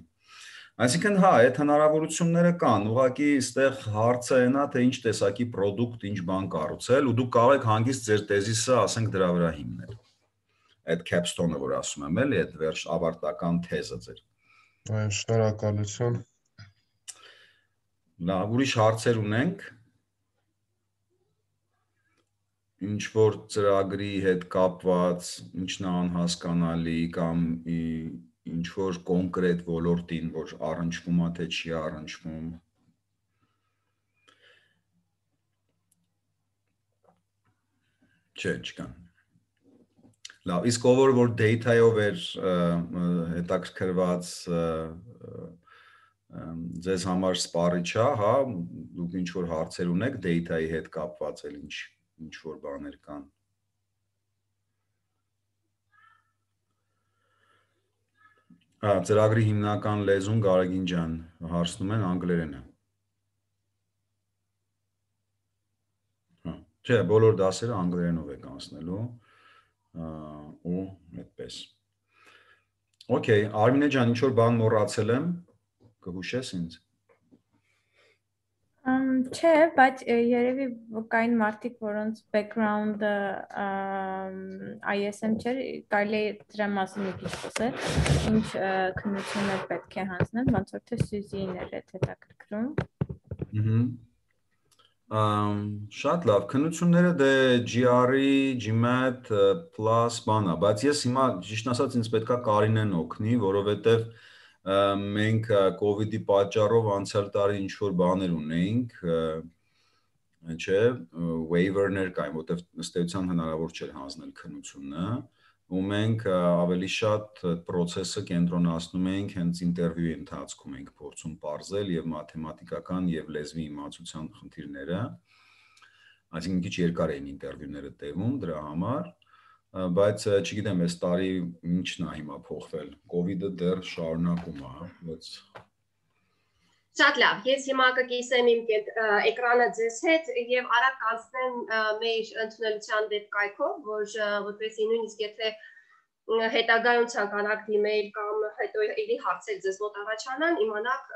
Այսինքն հա, այդ հնարավորությունները կան, ուղղակի այստեղ հարցը այն է, թե ինչ տեսակի product, ինչ բան կառուցել, ու դուք կարող եք հանգիստ ձեր տեզիսը, ասենք, դրա վրա հիմնել։ Այդ capstone-ը, որ ասում եմ, էլի, այդ վերջ ավարտական թեզը ձեր։ Այո, շնորհակալություն։ Լավ, ուրիշ հարցեր ունենք։ Ինչ որ ծրագրի հետ կապված, ինչն է անհասկանալի կամ ինչ որ կոնկրետ ոլորտին, որ առնչվում է, թե չի առնչվում։ Չէ, չկան։ Լավ, իսկ ով որ data-ով էր հետաքրքրված ձեզ համար սպառիչ է, հա, դուք ինչ որ հարցեր ունեք data-ի հետ կապված, էլ ինչ որ բաներ կան։ Ծրագրի հիմնական լեզուն Գարեգին ջան հարցնում են անգլերենը։ Չէ, բոլոր դասերը անգլերենով եք անցնելու ու այդպես։ Okay, Արմինե ջան, ինչ որ բան մոռացել եմ, կհուշես ինձ։ Չէ, բայց երևի կային մարդիկ, որոնց background-ը ISM չէր, կարելի է դրա մասին մի քիչ խոսել, ինչ քննություններ պետք է հանձնեն, ոնց որ թե Սյուզին էր այդ հետաքրքրում։ Շատ լավ, քննությունները դե GRE, GMAT, plus բանա, բայց ես հիմա ճիշտ ասած ինձ պետքա Կարինեն օգնի, որովհետև մենք COVID-ի պատճառով անցյալ տարի ինչ որ բաներ ունեինք, չէ, waiver-ներ կային, որտեղ ըստ էության հնարավոր չէր հանձնել քննությունը, ու մենք ավելի շատ process-ը կենտրոնացնում ենք հենց ինտերվյուի ընթացքում ենք փորձում պարզել եւ մաթեմատիկական եւ լեզվի իմացության խնդիրները, այսինքն քիչ երկար էին ինտերվյուները տևում դրա համար, բայց չգիտեմ այս տարի ինչն է հիմա փոխվել, COVID-ը դեռ շարունակում է, բայց Շատ լավ, ես հիմա կկիսեմ իմ էկրանը ձեզ հետ եւ արագ կանցնեմ մեր ընդունելության վեբկայքով, որպեսզի նույնիսկ եթե հետագայում ցանկանաք դիմել կամ հետո էլի հարցեր ձեզ մոտ առաջանան, իմանաք,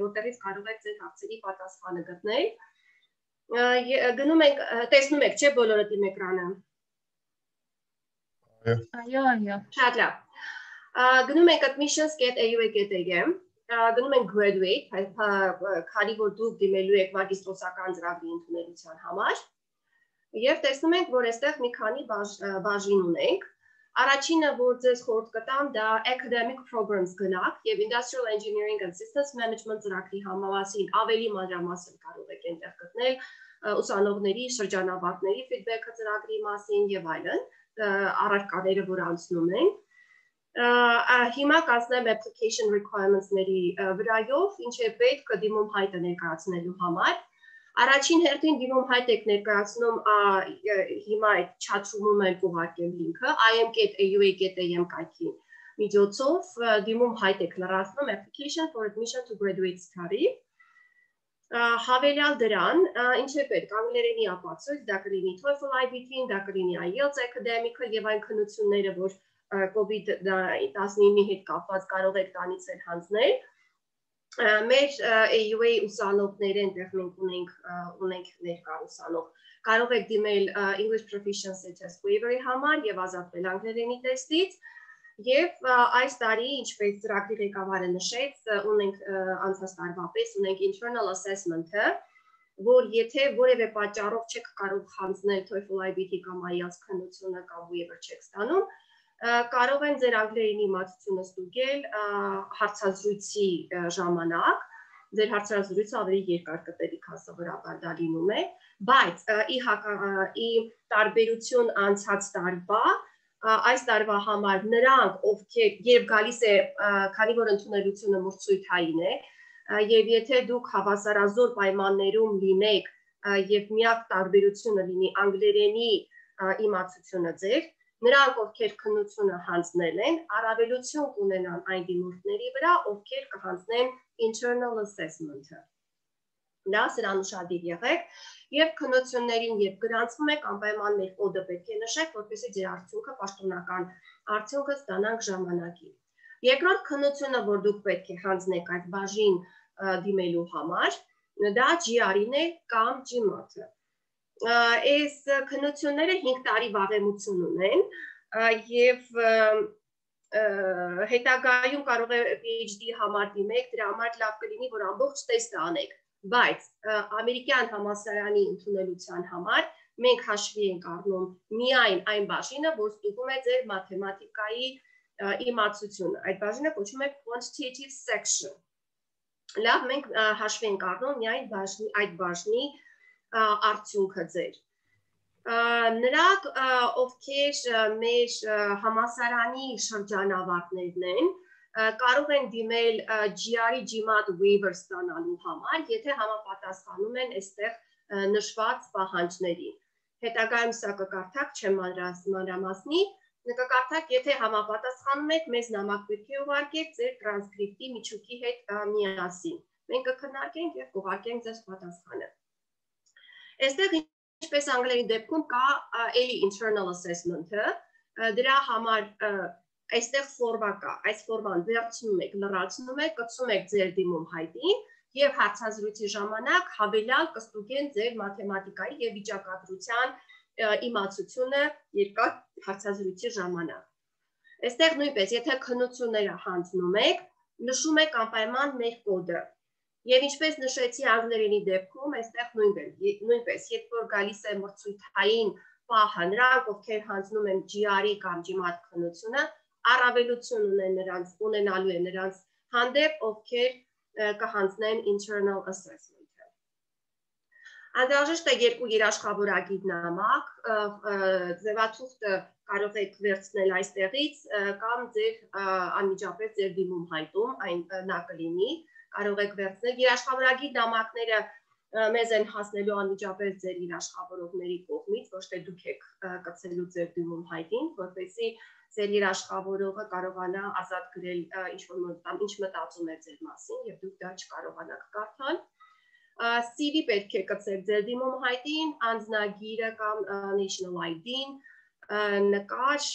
որտեղից կարող եք ձեր հարցերի պատասխանը գտնել։ Գնում ենք, տեսնում եք, չէ՞ բոլորը դիմ էկրանը։ Այո։ Շատ լավ։ Գնում ենք admissions.aua.am գնում ենք graduate, քանի որ դուք դիմելու եք մագիստրոսական ծրագրի ընդունելության համար, եւ տեսնում ենք, որ այստեղ մի քանի բաժին ունենք։ Առաջինը, որ ձեզ խորհուրդ կտամ, դա academic programs գնաք եւ industrial engineering and systems management ծրագրի համավասին ավելի մանրամասն կարող եք այնտեղ գտնել ուսանողների շրջանավարտների feedback-ը ծրագրի մասին եւ այլն, առարկաները, որ անցնում են։ Հիմա կանցնեմ application requirements-ների վրայով, ինչ է պետք դիմում հայտը ներկայացնելու համար։ Առաջին հերթին դիմում հայտ եք ներկայացնում հիմա այդ chat-room-ում էլ կուղարկեմ լինքը im.aua.am կայքի միջոցով դիմում հայտ եք լրացնում application for admission to graduate study։ Հավելյալ դրան, ինչ է պետք, անգլերենի ապացույց, դա կլինի TOEFL IBT-ին, դա կլինի IELTS academic-ը եւ այն քննությունները, որ COVID-19-ի հետ կապված կարող եք տանից էլ հանձնել։ Մեր AUA ուսանողները այնտեղ մենք ունենք ներկա ուսանող։ Կարող եք դիմել English Proficiency Test Waiver-ի համար եւ ազատվել անգլերենի տեստից։ Եվ այս տարի, ինչպես ծրագրի ղեկավարը նշեց, ունենք անցած տարվա պես ունենք internal assessment-ը, որ եթե որևէ պատճառով չեք կարող հանձնել TOEFL IBT կամ IELTS քննությունը կամ waiver չեք ստանում, կարող են ձեր անգլերենի իմացությունը ստուգել հարցազրույցի ժամանակ, ձեր հարցազրույցը ավելի երկար կտևի, քան սովորաբար դա լինում է, բայց ի տարբերություն անցած տարվա, այս տարվա համար նրանք, ովքեր երբ գալիս է, քանի որ ընդունելությունը մրցույթային է, եւ եթե դուք հավասարազոր պայմաններում լինեք եւ միակ տարբերությունը լինի անգլերենի իմացությունը ձեր, նրանք, ովքեր քննությունը հանձնել են, առավելություն կունենան այն դիմորդների վրա, ովքեր կհանձնեն internal assessment-ը։ Դա սրան ուշադիր եղեք եւ քննություններին երբ գրանցվում եք, անպայման մեր կոդը պետք է նշեք, որպեսզի ձեր արդյունքը պաշտոնական արդյունքը ստանանք ժամանակին։ Երկրորդ քննությունը, որ դուք պետք է հանձնեք այդ բաժին դիմելու համար, դա GRE-ն է կամ GMAT-ը։ Այս քննությունները 5 տարի վաղեմություն ունեն եւ հետագայում կարող է PhD համար դիմեք, դրա համար լավ կլինի, որ ամբողջ տեստը անեք, բայց ամերիկյան համալսարանի ընդունելության համար մենք հաշվի ենք առնում միայն այն բաժինը, որ ստուգում է ձեր մաթեմատիկայի իմացությունը։ Այդ բաժինը կոչվում է quantitative section։ Լավ, մենք հաշվի ենք առնում միայն այդ բաժնի արդյունքը ձեր։ Նրանք, ովքեր մեր համալսարանի շրջանավարտներն են, կարող են դիմել GRE GMAT waiver ստանալու համար, եթե համապատասխանում են այստեղ նշված պահանջներին։ Հետագայում սա կկարդակ, չեմ մանրամասնի, կկարդակ, եթե համապատասխանում եք, մեզ նամակ պետք է ուղարկեք ձեր տրանսկրիպտի միջուկի հետ միասին։ Մենք կքննարկենք եւ կուղարկենք ձեզ պատասխանը։ Այստեղ ինչպես անգլերենի դեպքում կա էլի internal assessment-ը, դրա համար այստեղ ֆորմա կա, այս ֆորման վերցնում եք, լրացնում եք, կցում եք ձեր դիմում հայտին եւ հարցազրույցի ժամանակ հավելյալ կստուգեն ձեր մաթեմատիկայի եւ վիճակագրության իմացությունը երկար հարցազրույցի ժամանակ։ Այստեղ նույնպես, եթե քննությունները հանձնում եք, նշում եք անպայման մեր կոդը։ Եվ ինչպես նշեցի անգլերենի դեպքում, այստեղ նույնպես, երբ որ գալիս է մրցույթային պահը, նրանք, ովքեր հանձնում են GRE կամ GMAT քննությունը, առավելություն ունենալու է նրանց հանդեպ, ովքեր կհանձնեն internal assessment-ը։ Անհրաժեշտ է երկու երաշխավորագիր նամակ, ձևաթուղթը կարող եք վերցնել այստեղից կամ ձեր անմիջապես ձեր դիմում հայտում, այն նա կլինի, կարող եք վերցնել երաշխավորագիր նամակները մեզ են հասնելու անմիջապես ձեր երաշխավորողների կողմից, ոչ թե դուք եք կցելու ձեր դիմում հայտին, որպեսզի ձեր երաշխավորողը կարողանա ազատ գրել ինչ մտածում է ձեր մասին եւ դուք դա չկարողանաք կարդալ։ CV պետք է կցեք ձեր դիմում հայտին, անձնագիրը կամ national ID-ն, նկար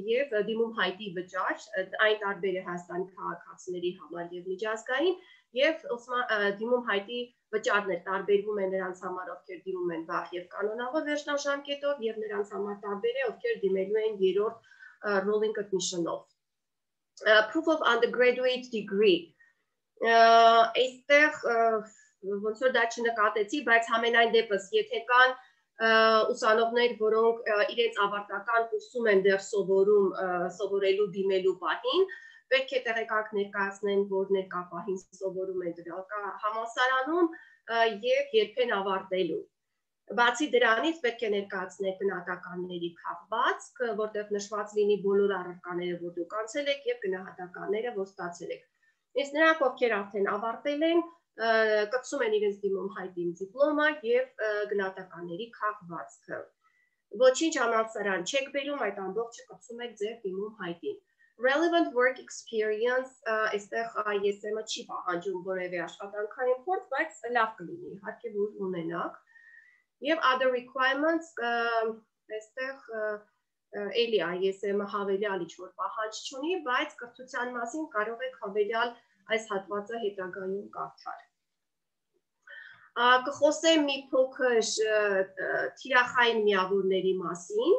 եւ դիմում հայտի վճար, այն տարբեր է Հայաստանի քաղաքացիների համար եւ միջազգային եւ դիմում հայտի վճարներ տարբերվում են նրանց համար, ովքեր դիմում են վաղ եւ կանոնավոր վերջնաժամկետով եւ նրանց համար տարբեր է, ովքեր դիմելու են երրորդ rolling admission-ով։ Proof of undergraduate degree այստեղ ոնց որ դա չնկատեցի, բայց համենայն դեպս, եթե կան ուսանողներ, որոնք իրենց ավարտական կուրսում են դեռ սովորելու դիմելու պահին, պետք է տեղեկակ ներկայացնեն, որ ներկա պահին սովորում են դրական համալսարանում եւ երբեն ավարտելու։ Բացի դրանից պետք է ներկայացնել գնահատականների քաղվածք, որտեղ նշված լինի բոլոր առարկաները, որ դուք անցել եք եւ գնահատականները, որ ստացել եք։ Իսկ նրանք, ովքեր արդեն ավարտել են, կցում են իրենց դիմում հայտին դիպլոմա եւ գնահատականների քաղվածքը։ Ոչինչ համալսարան չեք բերում, այդ ամբողջը կցում եք ձեր դիմում հայտին։ Relevant work experience այստեղ ISM-ը չի պահանջում որևէ աշխատանքային փորձ, բայց լավ կլինի, իհարկե որ ունենաք։ Եվ other requirements այստեղ էլի ISM-ը հավելյալ ինչ-որ պահանջ չունի, բայց կրթության մասին կարող եք հավելյալ այս հատվածը հետագայում կարդալ։ Կխոսեմ մի փոքր թիրախային միավորների մասին,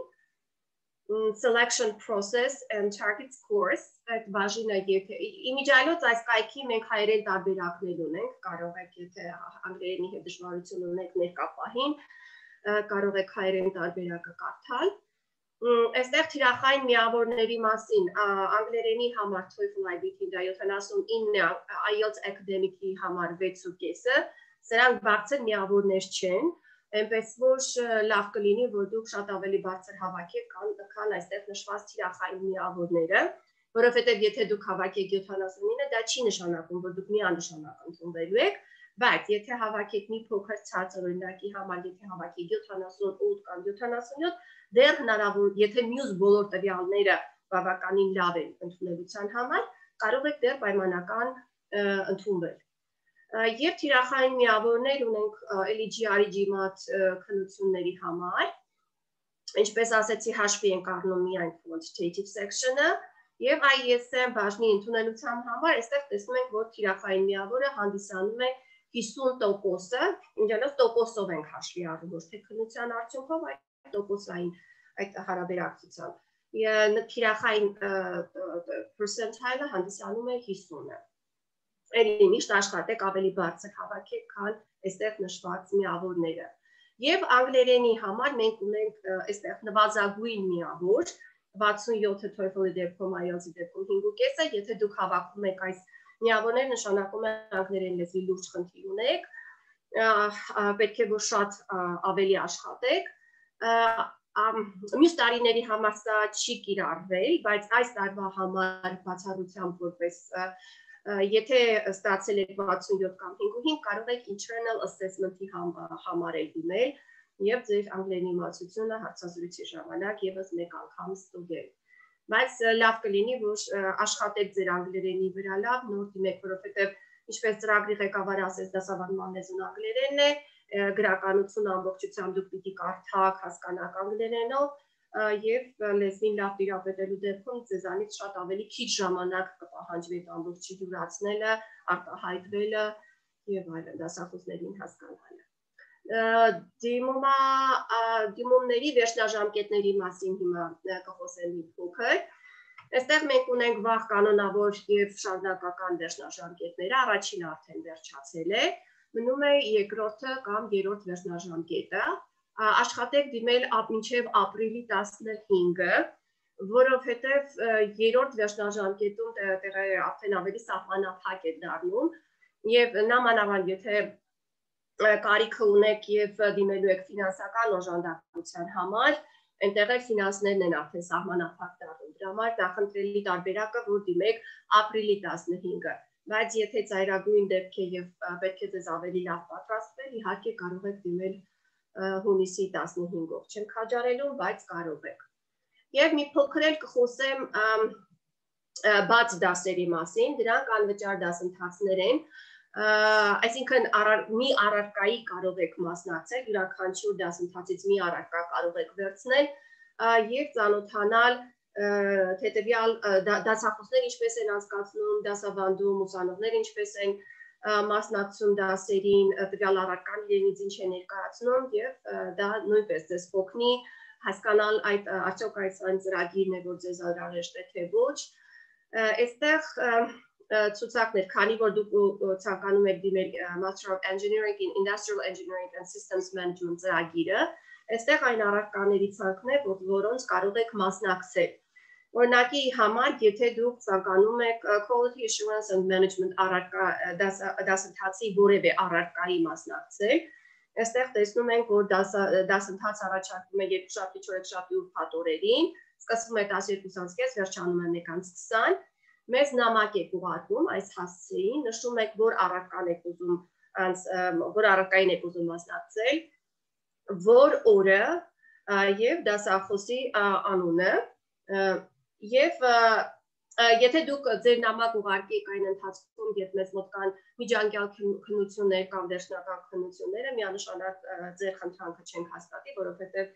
selection process and target scores, այդ բաժինը եթե իմիջիայլոց այս կայքի մենք հայերեն տարբերակներ ունենք, կարող եք եթե անգլերենի հետ դժվարություն ունեք ներկա պահին, կարող եք հայերեն տարբերակը կարդալ։ Այստեղ թիրախային միավորների մասին անգլերենի համար TOEFL IBT-ն դա 79, IELTS Academic-ի համար 6.5-ը, սրանք բարձր միավորներ չեն, այնպես որ լավ կլինի, որ դուք շատ ավելի բարձր հավաքեք, քան այստեղ նշված թիրախային միավորները, որովհետև եթե դուք հավաքեք 79, դա չի նշանակում, որ դուք միանշանակ ընդունվելու եք, բայց եթե հավաքեք մի փոքր ցածր օրինակի համար, եթե հավաքեք 78 կամ 77, դեռ հնարավոր, եթե մյուս բոլոր տվյալները բավականին լավ են ընդունելության համար, կարող եք դեռ պայմանական ընդունվել։ Եվ թիրախային միավորներ ունենք LGR GMAT քննությունների համար, ինչպես ասեցի, հաշվի ենք առնում միայն quantitative section-ը, եւ ISM բաժնի ընդունելության համար այստեղ տեսնում ենք, որ թիրախային միավորը հանդիսանում է 50%-ը, ինչպես տոկոսով ենք հաշվի առնում, ոչ թե քննության արդյունքով, այլ տոկոսային այդ հարաբերակցությամբ։ Թիրախային percentile-ը հանդիսանում է 50-ը։ Էլի միշտ աշխատեք ավելի բարձր հավաքեք, քան այստեղ նշված միավորները։ Եվ անգլերենի համար մենք ունենք այստեղ նվազագույն միավոր 67-ը TOEFL-ի դեպքում, IELTS-ի դեպքում 5.5-ը, եթե դուք հավաքում եք այս միավորները, նշանակում է անգլերեն լեզվի լուրջ խնդիր ունեք, պետք է որ շատ ավելի աշխատեք։ Մյուս տարիների համար սա չի կիրառվել, բայց այս տարվա համար բացառությամբ որպես եթե ստացել եք 67 կամ 5.5, կարող եք internal assessment-ի համարել դիմել եւ ձեր անգլերենի իմացությունը հարցազրույցի ժամանակ եւս մեկ անգամ ստուգել։ Բայց լավ կլինի, որ աշխատեք ձեր անգլերենի վրա լավ, նոր դիմեք, որովհետեւ ինչպես ծրագրի ղեկավարը ասեց, դասավանդման լեզուն անգլերենն է, գրականություն ամբողջությամբ դուք պիտի կարդաք, հասկանաք անգլերենով եւ լեզվին լավ տիրապետելու դեպքում ձեզանից շատ ավելի քիչ ժամանակ կպահանջվի ամբողջի յուրացնելը, արտահայտվելը եւ այլն, դասախոսներին հասկանալը։ Դիմումների վերջնաժամկետների մասին հիմա կխոսեմ մի փոքր։ Այստեղ մենք ունենք վաղ կանոնավոր եւ շարունակական վերջնաժամկետները, առաջինը արդեն վերջացել է, մնում է երկրորդը կամ երրորդ վերջնաժամկետը։ Աշխատեք դիմել մինչև ապրիլի 15-ը, որովհետև երրորդ վերջնաժամկետում տեղը արդեն ավելի սահմանափակ է դառնում եւ նամանավանդ եթե կարիքը ունեք եւ դիմելու եք ֆինանսական օժանդակության համար, այնտեղ էլ ֆինանսներն են արդեն սահմանափակ դառնում։ Դրա համար նախընտրելի տարբերակը, որ դիմեք ապրիլի 15-ը, բայց եթե ծայրագույն դեպք է եւ պետք է ձեզ ավելի լավ պատրաստվել, իհարկե կարող եք դիմել հունիսի 15-ով։ Չեմ քաջարելու, բայց կարող եք։ Եվ մի փոքր էլ կխոսեմ բաց դասերի մասին, դրանք անվճար դասընթացներ են, այսինքն մի առարկայի կարող եք մասնակցել, յուրաքանչյուր դասընթացից մի առարկա կարող եք վերցնել եւ ծանոթանալ հետեւյալ դասախոսներ ինչպես են անցկացնում, դասավանդում, ուսանողներ ինչպես են մասնակցում դասերին, տվյալ առարկան իրենից ինչ է ներկայացնում եւ դա նույնպես ձեզ կօգնի հասկանալ արդյոք այս այն ծրագիրն է, որ ձեզ անհրաժեշտ է թե ոչ։ Այստեղ ցուցակներ, քանի որ դուք ցանկանում եք դիմել Master of Engineering in Industrial Engineering and Systems Management ծրագիրը, այստեղ այն առարկաների ցանկն է, որոնց կարող եք մասնակցել։ Օրինակի համար, եթե դուք ցանկանում եք Quality Assurance and Management առարկա դասընթացի որևէ առարկայի մասնակցել, այստեղ տեսնում ենք, որ դասընթաց առաջարկվում է երկուշաբթի, չորեքշաբթի ու փաթորերին, սկսվում է 12:30, վերջանում է 1:20, մեզ նամակ եք ուղարկում այս հասցեին, նշում եք, որ առարկային եք ուզում մասնակցել, որ օրը եւ դասախոսի անունը եւ եթե դուք ձեր նամակ ուղարկեք այն ընթացքում, երբ մեզ մոտ կան միջանկյալ քննություններ կամ վերջնական քննությունները, միանշանակ ձեր խնդրանքը չենք հաստատի, որովհետեւ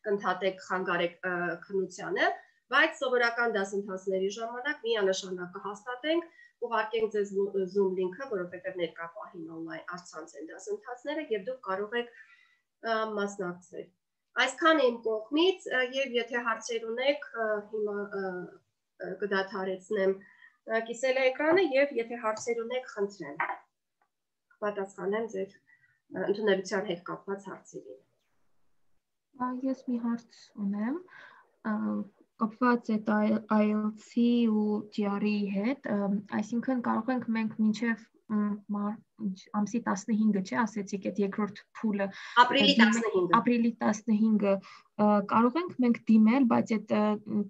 կընդհատեք խանգարեք քննությանը, բայց սովորական դասընթացների ժամանակ միանշանակ կհաստատենք, ուղարկենք ձեզ Zoom link-ը, որովհետեւ ներկա պահին on-line առցանց են դասընթացները եւ դուք կարող եք մասնակցել։ Այսքան իմ կողմից եւ եթե հարցեր ունեք, հիմա կդադարեցնեմ կիսել էկրանը եւ եթե հարցեր ունեք, խնդրեմ պատասխանեմ ձեր ընդունելության հետ կապված հարցերին։ Ես մի հարց ունեմ, կապված է IELTS-ի ու GRE-ի հետ, այսինքն կարող ենք մենք մինչև ամսի 15-ը, չէ, ասեցիք այդ երկրորդ փուլը, ապրիլի 15-ը կարող ենք մենք դիմել, բայց այդ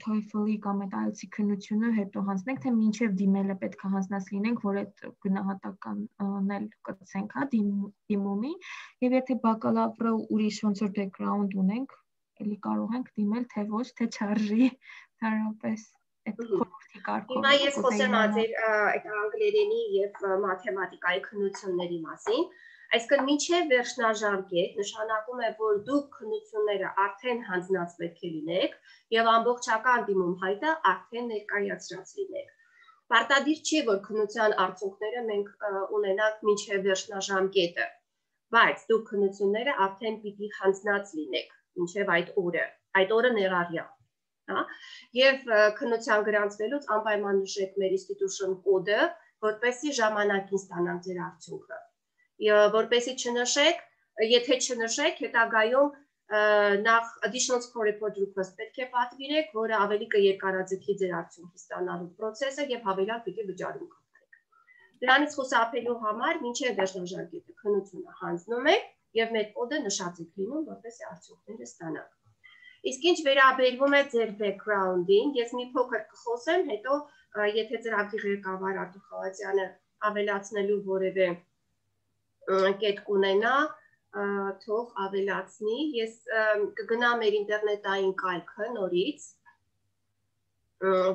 TOEFL-ի կամ այդ IELTS-ի քննությունը հետո հանձնենք, թե մինչև դիմելը պետք է հանձնած լինենք, որ այդ գնահատականն էլ կցենք, հա, դիմումի, եւ եթե բակալավրը ուրիշ ոնց որ background ունենք, էլի կարող ենք դիմել, թե ոչ, թե չարժի, դարապես այդ խորհրդի կարգով։ Հիմա ես խոսեմ ձեր այդ անգլերենի եւ մաթեմատիկայի քննությունների մասին, այսինքն մինչև վերջնաժամկետ նշանակում է, որ դուք քննությունները արդեն հանձնած պետք է լինեք եւ ամբողջական դիմում հայտը արդեն ներկայացրած լինեք։ Պարտադիր չէ, որ քննության արդյունքները մենք ունենանք մինչև վերջնաժամկետը, բայց դուք քննությունները արդեն պիտի հանձնած լինեք մինչև այդ օրը ներառյալ, հա, եւ քննության գրանցվելուց անպայման նշեք մեր institution կոդը, որպեսզի ժամանակին ստանանք ձեր արդյունքը։ Որպեսզի չնշեք, եթե չնշեք, հետագայում նախ additional score report request պետք է պատվիրեք, որը ավելի կերկարաձգի ձեր արդյունքի ստանալու process-ը եւ հավելյալ պիտի վճարում կատարեք։ Դրանից խուսափելու համար մինչև վերջնաժամկետը քննությունը հանձնում եք եւ մեր կոդը նշած եք լինում, որպեսզի արդյունքները ստանաք։ Իսկ ինչ վերաբերվում է ձեր background-ին, ես մի փոքր կխոսեմ, հետո եթե ծրագրի ղեկավար Արտուր Խալաթյանը ավելացնելու որևէ կետ կունենա, թող ավելացնի, ես կգնամ մեր ինտերնետային կայքը նորից,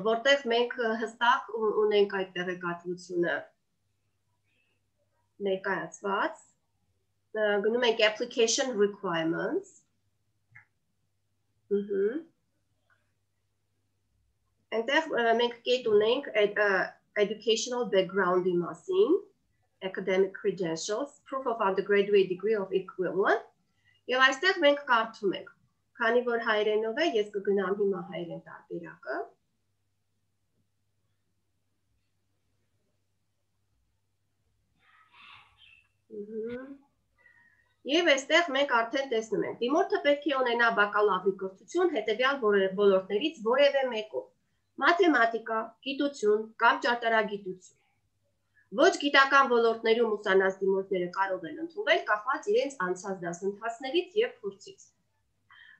որտեղ մենք հստակ ունենք այդ տեղեկատվությունը ներկայացված, գնում ենք application requirements, այնտեղ մենք կետ ունենք educational background-ի մասին, academic credentials, proof of undergraduate degree of equivalent, եւ այստեղ մենք կարդում ենք, քանի որ հայերենով է, ես կգնամ հիմա հայերեն տարբերակը, Եվ այստեղ մենք արդեն տեսնում ենք, դիմորդը պետք է ունենա բակալավրի կրթություն հետևյալ ոլորտներից որևէ մեկով, մաթեմատիկա, գիտություն կամ ճարտարագիտություն, Ոչ գիտական ոլորտներում ուսանած-դիմորդները կարող են ընդունվել կախված իրենց անցած դասընթացներից եւ փորձից։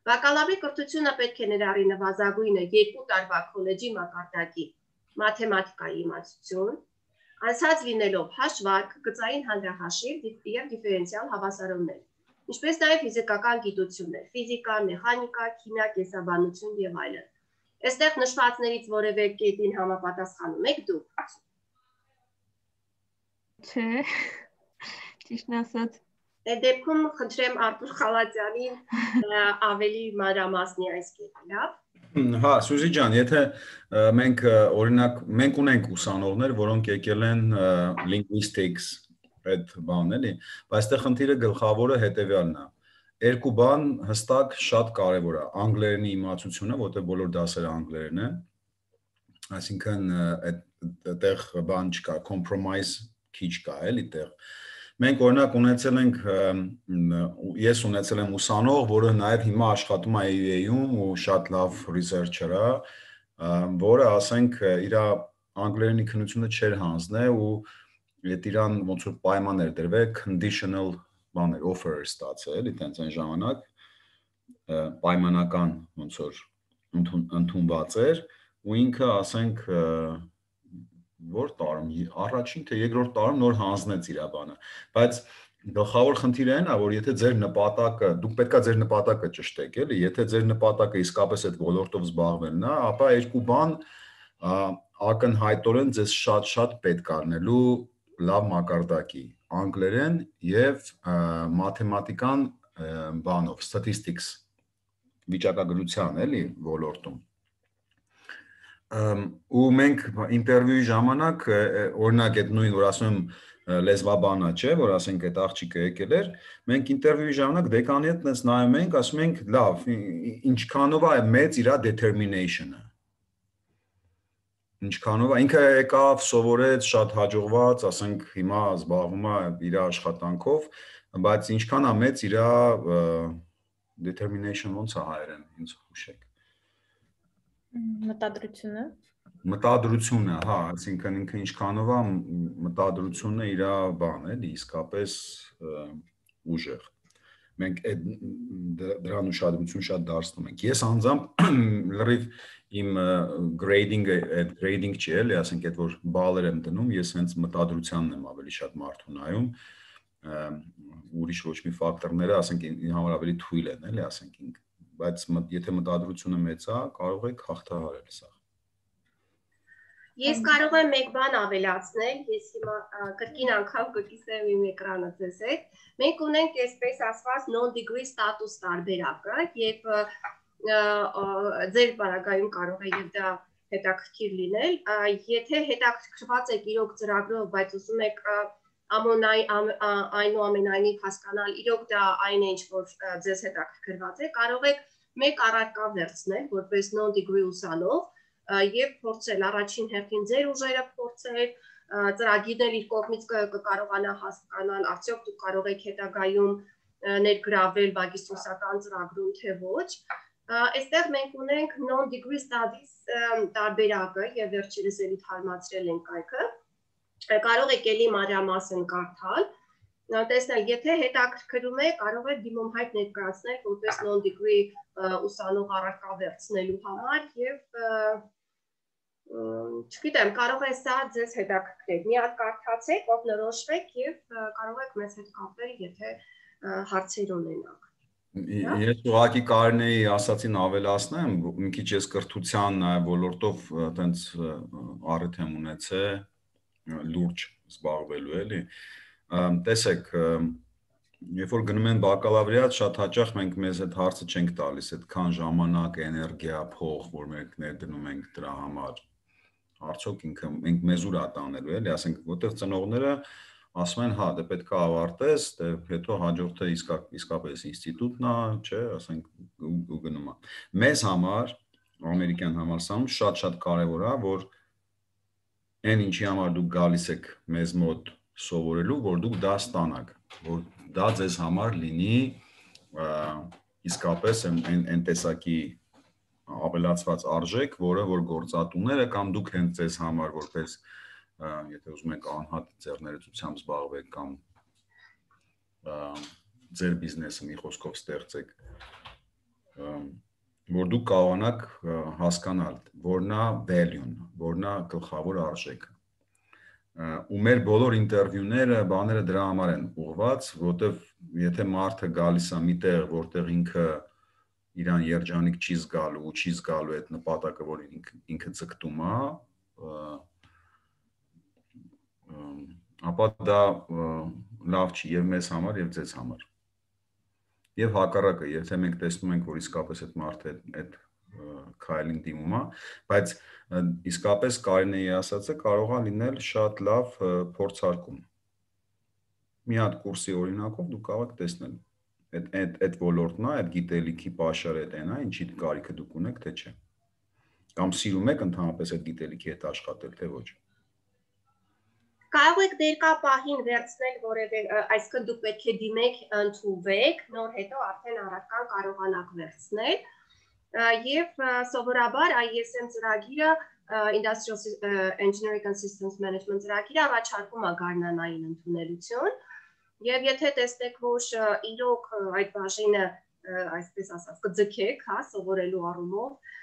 Բակալավրի կրթությունը պետք է ներառի նվազագույնը 2 տարվա քոլեջի մակարդակի մաթեմատիկայի իմացություն, անցած լինելով հաշվարկ, գծային հանրահաշիվ եւ դիֆերենցիալ հավասարումներ, ինչպես նաեւ ֆիզիկական գիտություններ, ֆիզիկա, մեխանիկա, քիմիա, կենսաբանություն եւ այլն։ Այստեղ նշվածներից որևէ կետին համապատասխանում եք դուք։ Չէ, ճիշտն ասած։ Այդ դեպքում խնդրեմ Արտուր Խալատյանին ավելի մանրամասնի այս կետը, լավ։ Հա, Սյուզի ջան, եթե մենք օրինակ մենք ունենք ուսանողներ, որոնք եկել են linguistics այդ բանն էլի, բայց այստեղ խնդիրը գլխավորը հետեւյալն է։ Երկու բան հստակ շատ կարևոր է, անգլերենի իմացությունը, որտեղ բոլոր դասերը անգլերեն են, այսինքն այդտեղ բան չկա, compromise քիչ կա, էլի տեղ։ Մենք օրինակ ունեցել ենք ես ունեցել եմ ուսանող, որը նաև հիմա աշխատում է EA-ում ու շատ լավ researcher է, որը ասենք իր անգլերենի քննությունը չէր հանձնել ու այդ իրան ոնց որ պայման էր դրվել conditional բաներ offer ստացել, էլի տենց այն ժամանակ պայմանական ոնց որ ընդունված էր ու ինքը ասենք որ տարում առաջին թե երկրորդ տարում նոր հանձնեց իր բանը, բայց գլխավոր խնդիրը այն է, որ եթե ձեր նպատակը, դուք պետքա ձեր նպատակը ճշտեք, էլի, եթե ձեր նպատակը իսկապես այդ ոլորտով զբաղվելն է, ապա երկու բան ակնհայտորեն ձեզ շատ պետք է առնելու լավ մակարդակի, անգլերեն եւ մաթեմատիկան բանով, statistics վիճակագրության, էլի, ոլորտում։ Ու մենք ինտերվյուի ժամանակ օրինակ այդ նույն որ ասում եմ լեզվաբանա չէ որ ասենք այդ աղջիկը եկել էր մենք ինտերվյուի ժամանակ դեկանի հետ նենց նայում ենք ասում ենք լավ ինչքանով է մեծ իր determination-ը ինչքանով է ինքը եկավ սովորեց շատ հաջողված ասենք հիմա զբաղվում է իր աշխատանքով բայց ինչքան է մեծ իր determination ոնց է հայերեն ինձ հուշեք Մտադրությունը, հա, այսինքն ինքը ինչքանով է մտադրությունը իր բան էլի, իսկապես ուժեղ։ Մենք դրան ուշադրություն շատ դարձնում ենք։ Ես անձամբ լրիվ իմ grading չի էլի, ասենք այդ որ բալեր եմ դնում, ես հենց մտադրությանն եմ ավելի շատ մարդու նայում, ուրիշ ոչ մի ֆակտորները, ասենք համար ավելի թույլ են, էլի, ասենք ինք, բայց եթե մտադրությունը մեծ է, կարող եք հաղթահարել սա։ Ես կարող եմ մեկ բան ավելացնել, ես հիմա կրկին անգամ կկիսեմ իմ էկրանը ձեզ հետ։ Մենք ունենք այսպես ասված non-degree status տարբերակը եւ ձեր բaragայում կարող է եւ դա հետաքրքիր լինել, եթե հետաքրքրված եք իրոք ծրագրով, բայց ուզում եք այնուամենայնիվ հասկանալ իրոք դա այն է ինչ որ ձեզ հետաքրքրված է, կարող եք մեկ առարկա վերցնել որպես non-degree ուսանող եւ փորձել առաջին հերթին ձեր ուժերը փորձել, ծրագիրներ իր կողմից կկարողանա հասկանալ, արդյոք դուք կարող եք հետագայում ներգրավել բագիստրոսական ծրագրում թե ոչ։ Այստեղ մենք ունենք non-degree studies տարբերակը եւ վերջերս էլի թարմացրել ենք այգը։ Կարող եք էլի մանրամասն կարդալ, տեսնել, եթե հետաքրքրում է, կարող եք դիմում հայտ ներկայացնել որպես non-degree ուսանող առարկա վերցնելու համար եւ չգիտեմ, կարող է սա ձեզ հետաքրքրել։ Մի հատ կարդացեք, օգնորոշվեք եւ կարող եք մեզ հետ կապել, եթե հարցեր ունենաք։ Ես ուղղակի կարենեի ասացին ավելացնեմ, մի քիչ ես կրթության ոլորտով այտենց առիթ եմ ունեցել լուրջ զբաղվելու էլի։ Տեսեք, երբ որ գնում են բակալավրիատ, շատ հաճախ մենք մեզ այդ հարցը չենք տալիս, այդքան ժամանակ, էներգիա, փող, որ մենք ներդնում ենք դրա համար։ Արդյոք ինքը մենք մեզ ուր է տանելու, էլի, ասենք, որտեղ ծնողները ասում են, հա, դե պետք է ավարտես, դե հետո հաջորդը իսկապես ինստիտուտն է, չէ, ասենք, ու գնում է։ Մեզ համար, ամերիկյան համալսարանում շատ կարևոր է, որ այն ինչի համար դուք գալիս եք մեզ մոտ սովորելու, որ դուք դա ստանաք, որ դա ձեզ համար լինի իսկապես այն տեսակի ավելացված արժեք, որը որ գործատուները կամ դուք հենց ձեզ համար որպես եթե ուզում եք անհատ ձեռներեցությամբ զբաղվեք կամ ձեր բիզնեսը մի խոսքով ստեղծեք, որ դուք կարողանաք հասկանալ, որն է value-ն, որն է գլխավոր արժեքը։ Ու մեր բոլոր ինտերվյուները, բաները դրա համար են ուղղված, որտեվ եթե մարդը գալիս է մի տեղ, որտեղ ինքը իրան երջանիկ չի զգալու ու չի զգալու այդ նպատակը, որ ինքը ձգտում է, ապա դա լավ չի եւ մեզ համար եւ ձեզ համար։ Եվ հակառակը, եթե մենք տեսնում ենք, որ իսկապես այդ մարդը այդ քայլին դիմում է, բայց իսկապես Կարինեի ասածը կարող է լինել շատ լավ փորձարկում։ Մի հատ կուրսի օրինակով դուք կարող եք տեսնել այդ ոլորտն է, այդ գիտելիքի պաշարը այն է, ինչի կարիքը դուք ունեք, թե չէ։ Կամ սիրում եք ընդհանրապես այդ գիտելիքի հետ աշխատել, թե ոչ։ Կարող եք ներկա պահին վերցնել որևէ, այսինքն դուք պետք է դիմեք, ընդունվեք, նոր հետո արդեն առարկան կարողանաք վերցնել։ Եվ սովորաբար ISM ծրագիրը Industrial Engineering and Systems Management ծրագիրը առաջարկում է գարնանային ընդունելություն։ Եվ եթե տեսնեք, որ իրոք այդ բաժինը, այսպես ասած, կձգեք, հա, սովորելու առումով,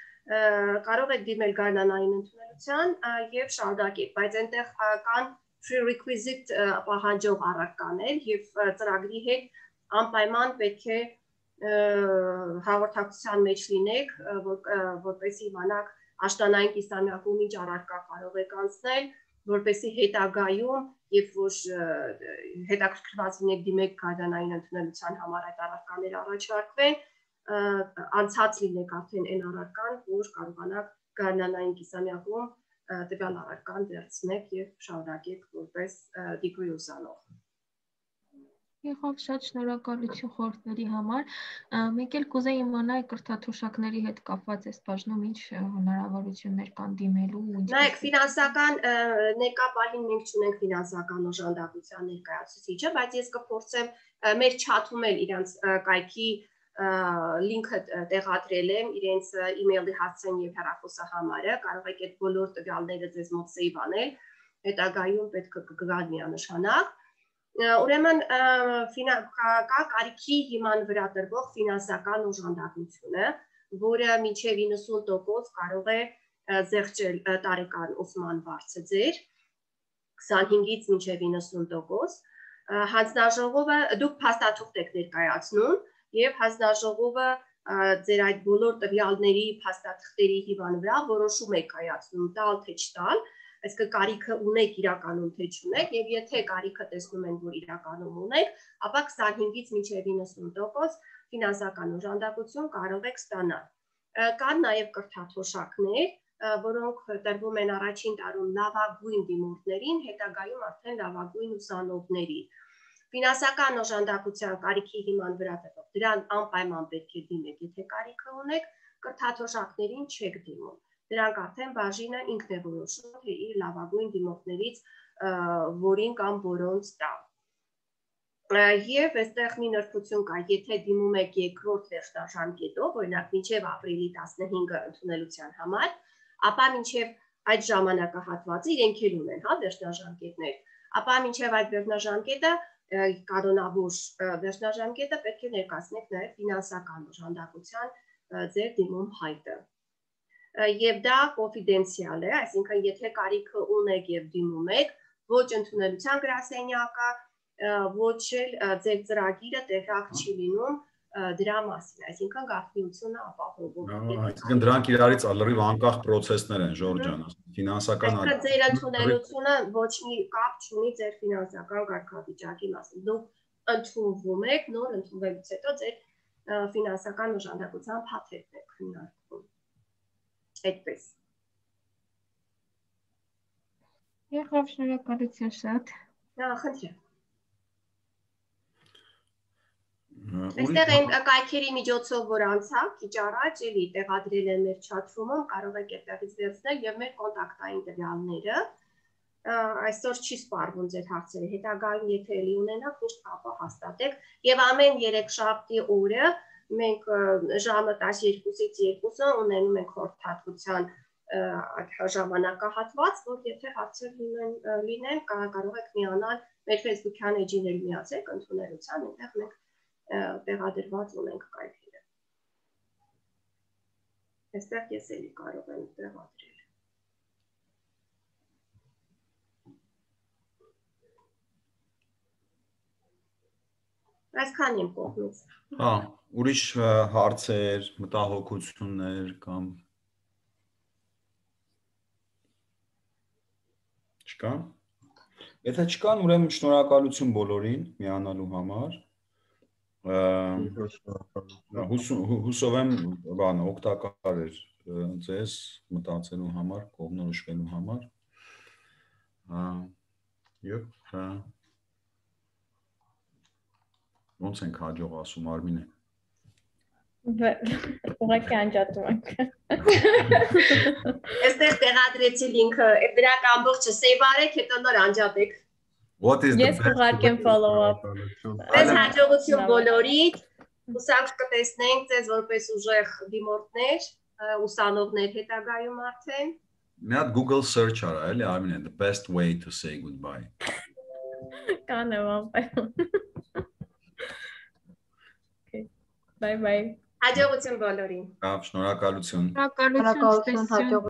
կարող եք դիմել գարնանային ընդունելության եւ շարունակեք, բայց այնտեղ կան prerequisite պահանջող առարկաներ եւ ծրագրի հետ անպայման պետք է հաղորդակցության մեջ լինեք, որպեսզի իմանաք աշտանային կիսամյակում ինչ առարկա կարող եք անցնել, որպեսզի հետագայում, երբ որ հետաքրքրված լինեք դիմեք գարնանային ընդունելության համար այդ առարկաները առաջարկվեն, անցած լինեք արդեն այն առարկան, որ կարողանաք գարնանային կիսամյակում տվյալ առարկան վերցնեք եւ շարունակեք որպես degree ուսանող։ Եղավ, շատ շնորհակալություն խորհուրդների համար։ Մեկ էլ կուզեի իմանալ կրթաթոշակների հետ կապված այս բաժնում ինչ հնարավորություններ կան դիմելու ու ինչ։ Նայեք, ֆինանսական ներկա պահին մենք չունենք ֆինանսական օժանդակության ներկայացուցիչը, բայց ես կփորձեմ մեր չաթում էլ իրանց կայքի լինքը տեղադրել եմ իրենց email-ի հասցեն եւ հեռախոսահամարը, կարող եք այդ բոլոր տվյալները ձեզ մոտ save անել, հետագայում պետք է կգա միանշանակ։ Ուրեմն կա կարիքի հիման վրա տրվող ֆինանսական օժանդակությունը, որը մինչև 90% կարող է զեղչել տարեկան ուսման վարձը ձեր 25-ից մինչև 90%։ Հանձնաժողովը դուք փաստաթուղթ եք ներկայացնում եւ հանձնաժողովը ձեր այդ բոլոր տվյալների փաստաթղթերի հիման վրա որոշում եք կայացնում տալ թե չտալ, այսինքն կարիքը ունեք իրականում թե չունեք եւ եթե կարիքը տեսնում են որ իրականում ունեք, ապա 25-ից մինչև 90% ֆինանսական օժանդակություն կարող եք ստանալ։ Կան նաեւ կրթաթոշակներ, որոնք տրվում են առաջին տարում լավագույն դիմորդներին, հետագայում արդեն լավագույն ուսանողների։ Ֆինանսական օժանդակության կարիքի հիման վրա տրվող դրան անպայման պետք է դիմեք, եթե կարիքը ունեք, կրթաթոշակներին չեք դիմում։ Դրանք արդեն բաժինը ինքն է որոշում, թե իր լավագույն դիմորդներից որին կամ որոնց տա։ Եվ այստեղ մի նրբություն կա, եթե դիմում եք երկրորդ վերջնաժամկետով, օրինակ մինչև ապրիլի 15-ը ընդունելության համար, ապա մինչև այդ ժամանակահատվածը իրենք էլ ունեն, հա, վերջնաժամկետներ, ապա մինչև այդ վերջնաժամկետը կանոնավոր վերջնաժամկետը պետք է ներկայացնեք նաև ֆինանսական օժանդակության ձեր դիմում հայտը։ Եվ դա կոնֆիդենցիալ է, այսինքն եթե կարիքը ունեք եւ դիմում եք, ոչ ընդունելության գրասենյակը, ոչ էլ ձեր ծրագիրը տեղյակ չի լինում դրա մասին, այսինքն գաղտնիությունը ապահովում։ Այսինքն դրանք իրարից լրիվ անկախ process-ներ են, Ժորժ ջան, ֆինանսական Այսինքն ձեր ընդունելությունը ոչ մի կապ չունի ձեր ֆինանսական կարգավիճակի մասին։ Դուք ընդունվում եք, նոր ընդունվելուց հետո ձեր ֆինանսական օժանդակության փաթեթն եք քննարկում։ Այդպես։ Եղավ, շնորհակալություն շատ։ Խնդրեմ։ Այստեղ այն կայքերի միջոցով որ անցա, քիչ առաջ էլի տեղադրել են մեր chat-room-ում, կարող եք այդտեղից վերցնել եւ մեր կոնտակտային տվյալները։ Այսօր չի սպառվում ձեր հարցերը, հետագայում եթե էլի ունենաք, միշտ կապը հաստատեք եւ ամեն 3 շաբթի օրը մենք ժամը 12-ից 2-ը ունենում ենք խորհրդատվության ժամանակահատված, որ եթե հարցեր լինեն, կարող եք միանալ մեր Facebook-յան էջին էլ միացեք ընդունելության, այնտեղ մենք տեղադրված ունենք կայքերը։ Այստեղ ես էլի կարող եմ տեղադրել։ Այսքան իմ կողմից։ Հա, ուրիշ հարցեր, մտահոգություններ կամ չկա։ Եթե չկան, ուրեմն շնորհակալություն բոլորին միանալու համար։ Հուսով եմ, բան օգտակար էր ձեզ մտածելու համար, կողմնորոշվելու համար։ Եվ ոնց ենք հաջող ասում Արմինե։ Ուղղակի անջատում ենք։ Այստեղ տեղադրեցի լինքը, դրանք ամբողջը save արեք, հետո նոր անջատեք։ Ես կուղարկեմ follow up։ Ձեզ հաջողություն բոլորիդ, հուսանք կտեսնենք ձեզ որպես ուժեղ դիմորդներ, ուսանողներ հետագայում արդեն։ Մի հատ Google search արա, էլի Արմինե, the best way to say goodbye։ Կանեմ անպայման։ Bye bye. Հաջողություն բոլորին։ Շնորհակալություն։ Շնորհակալություն, հաջող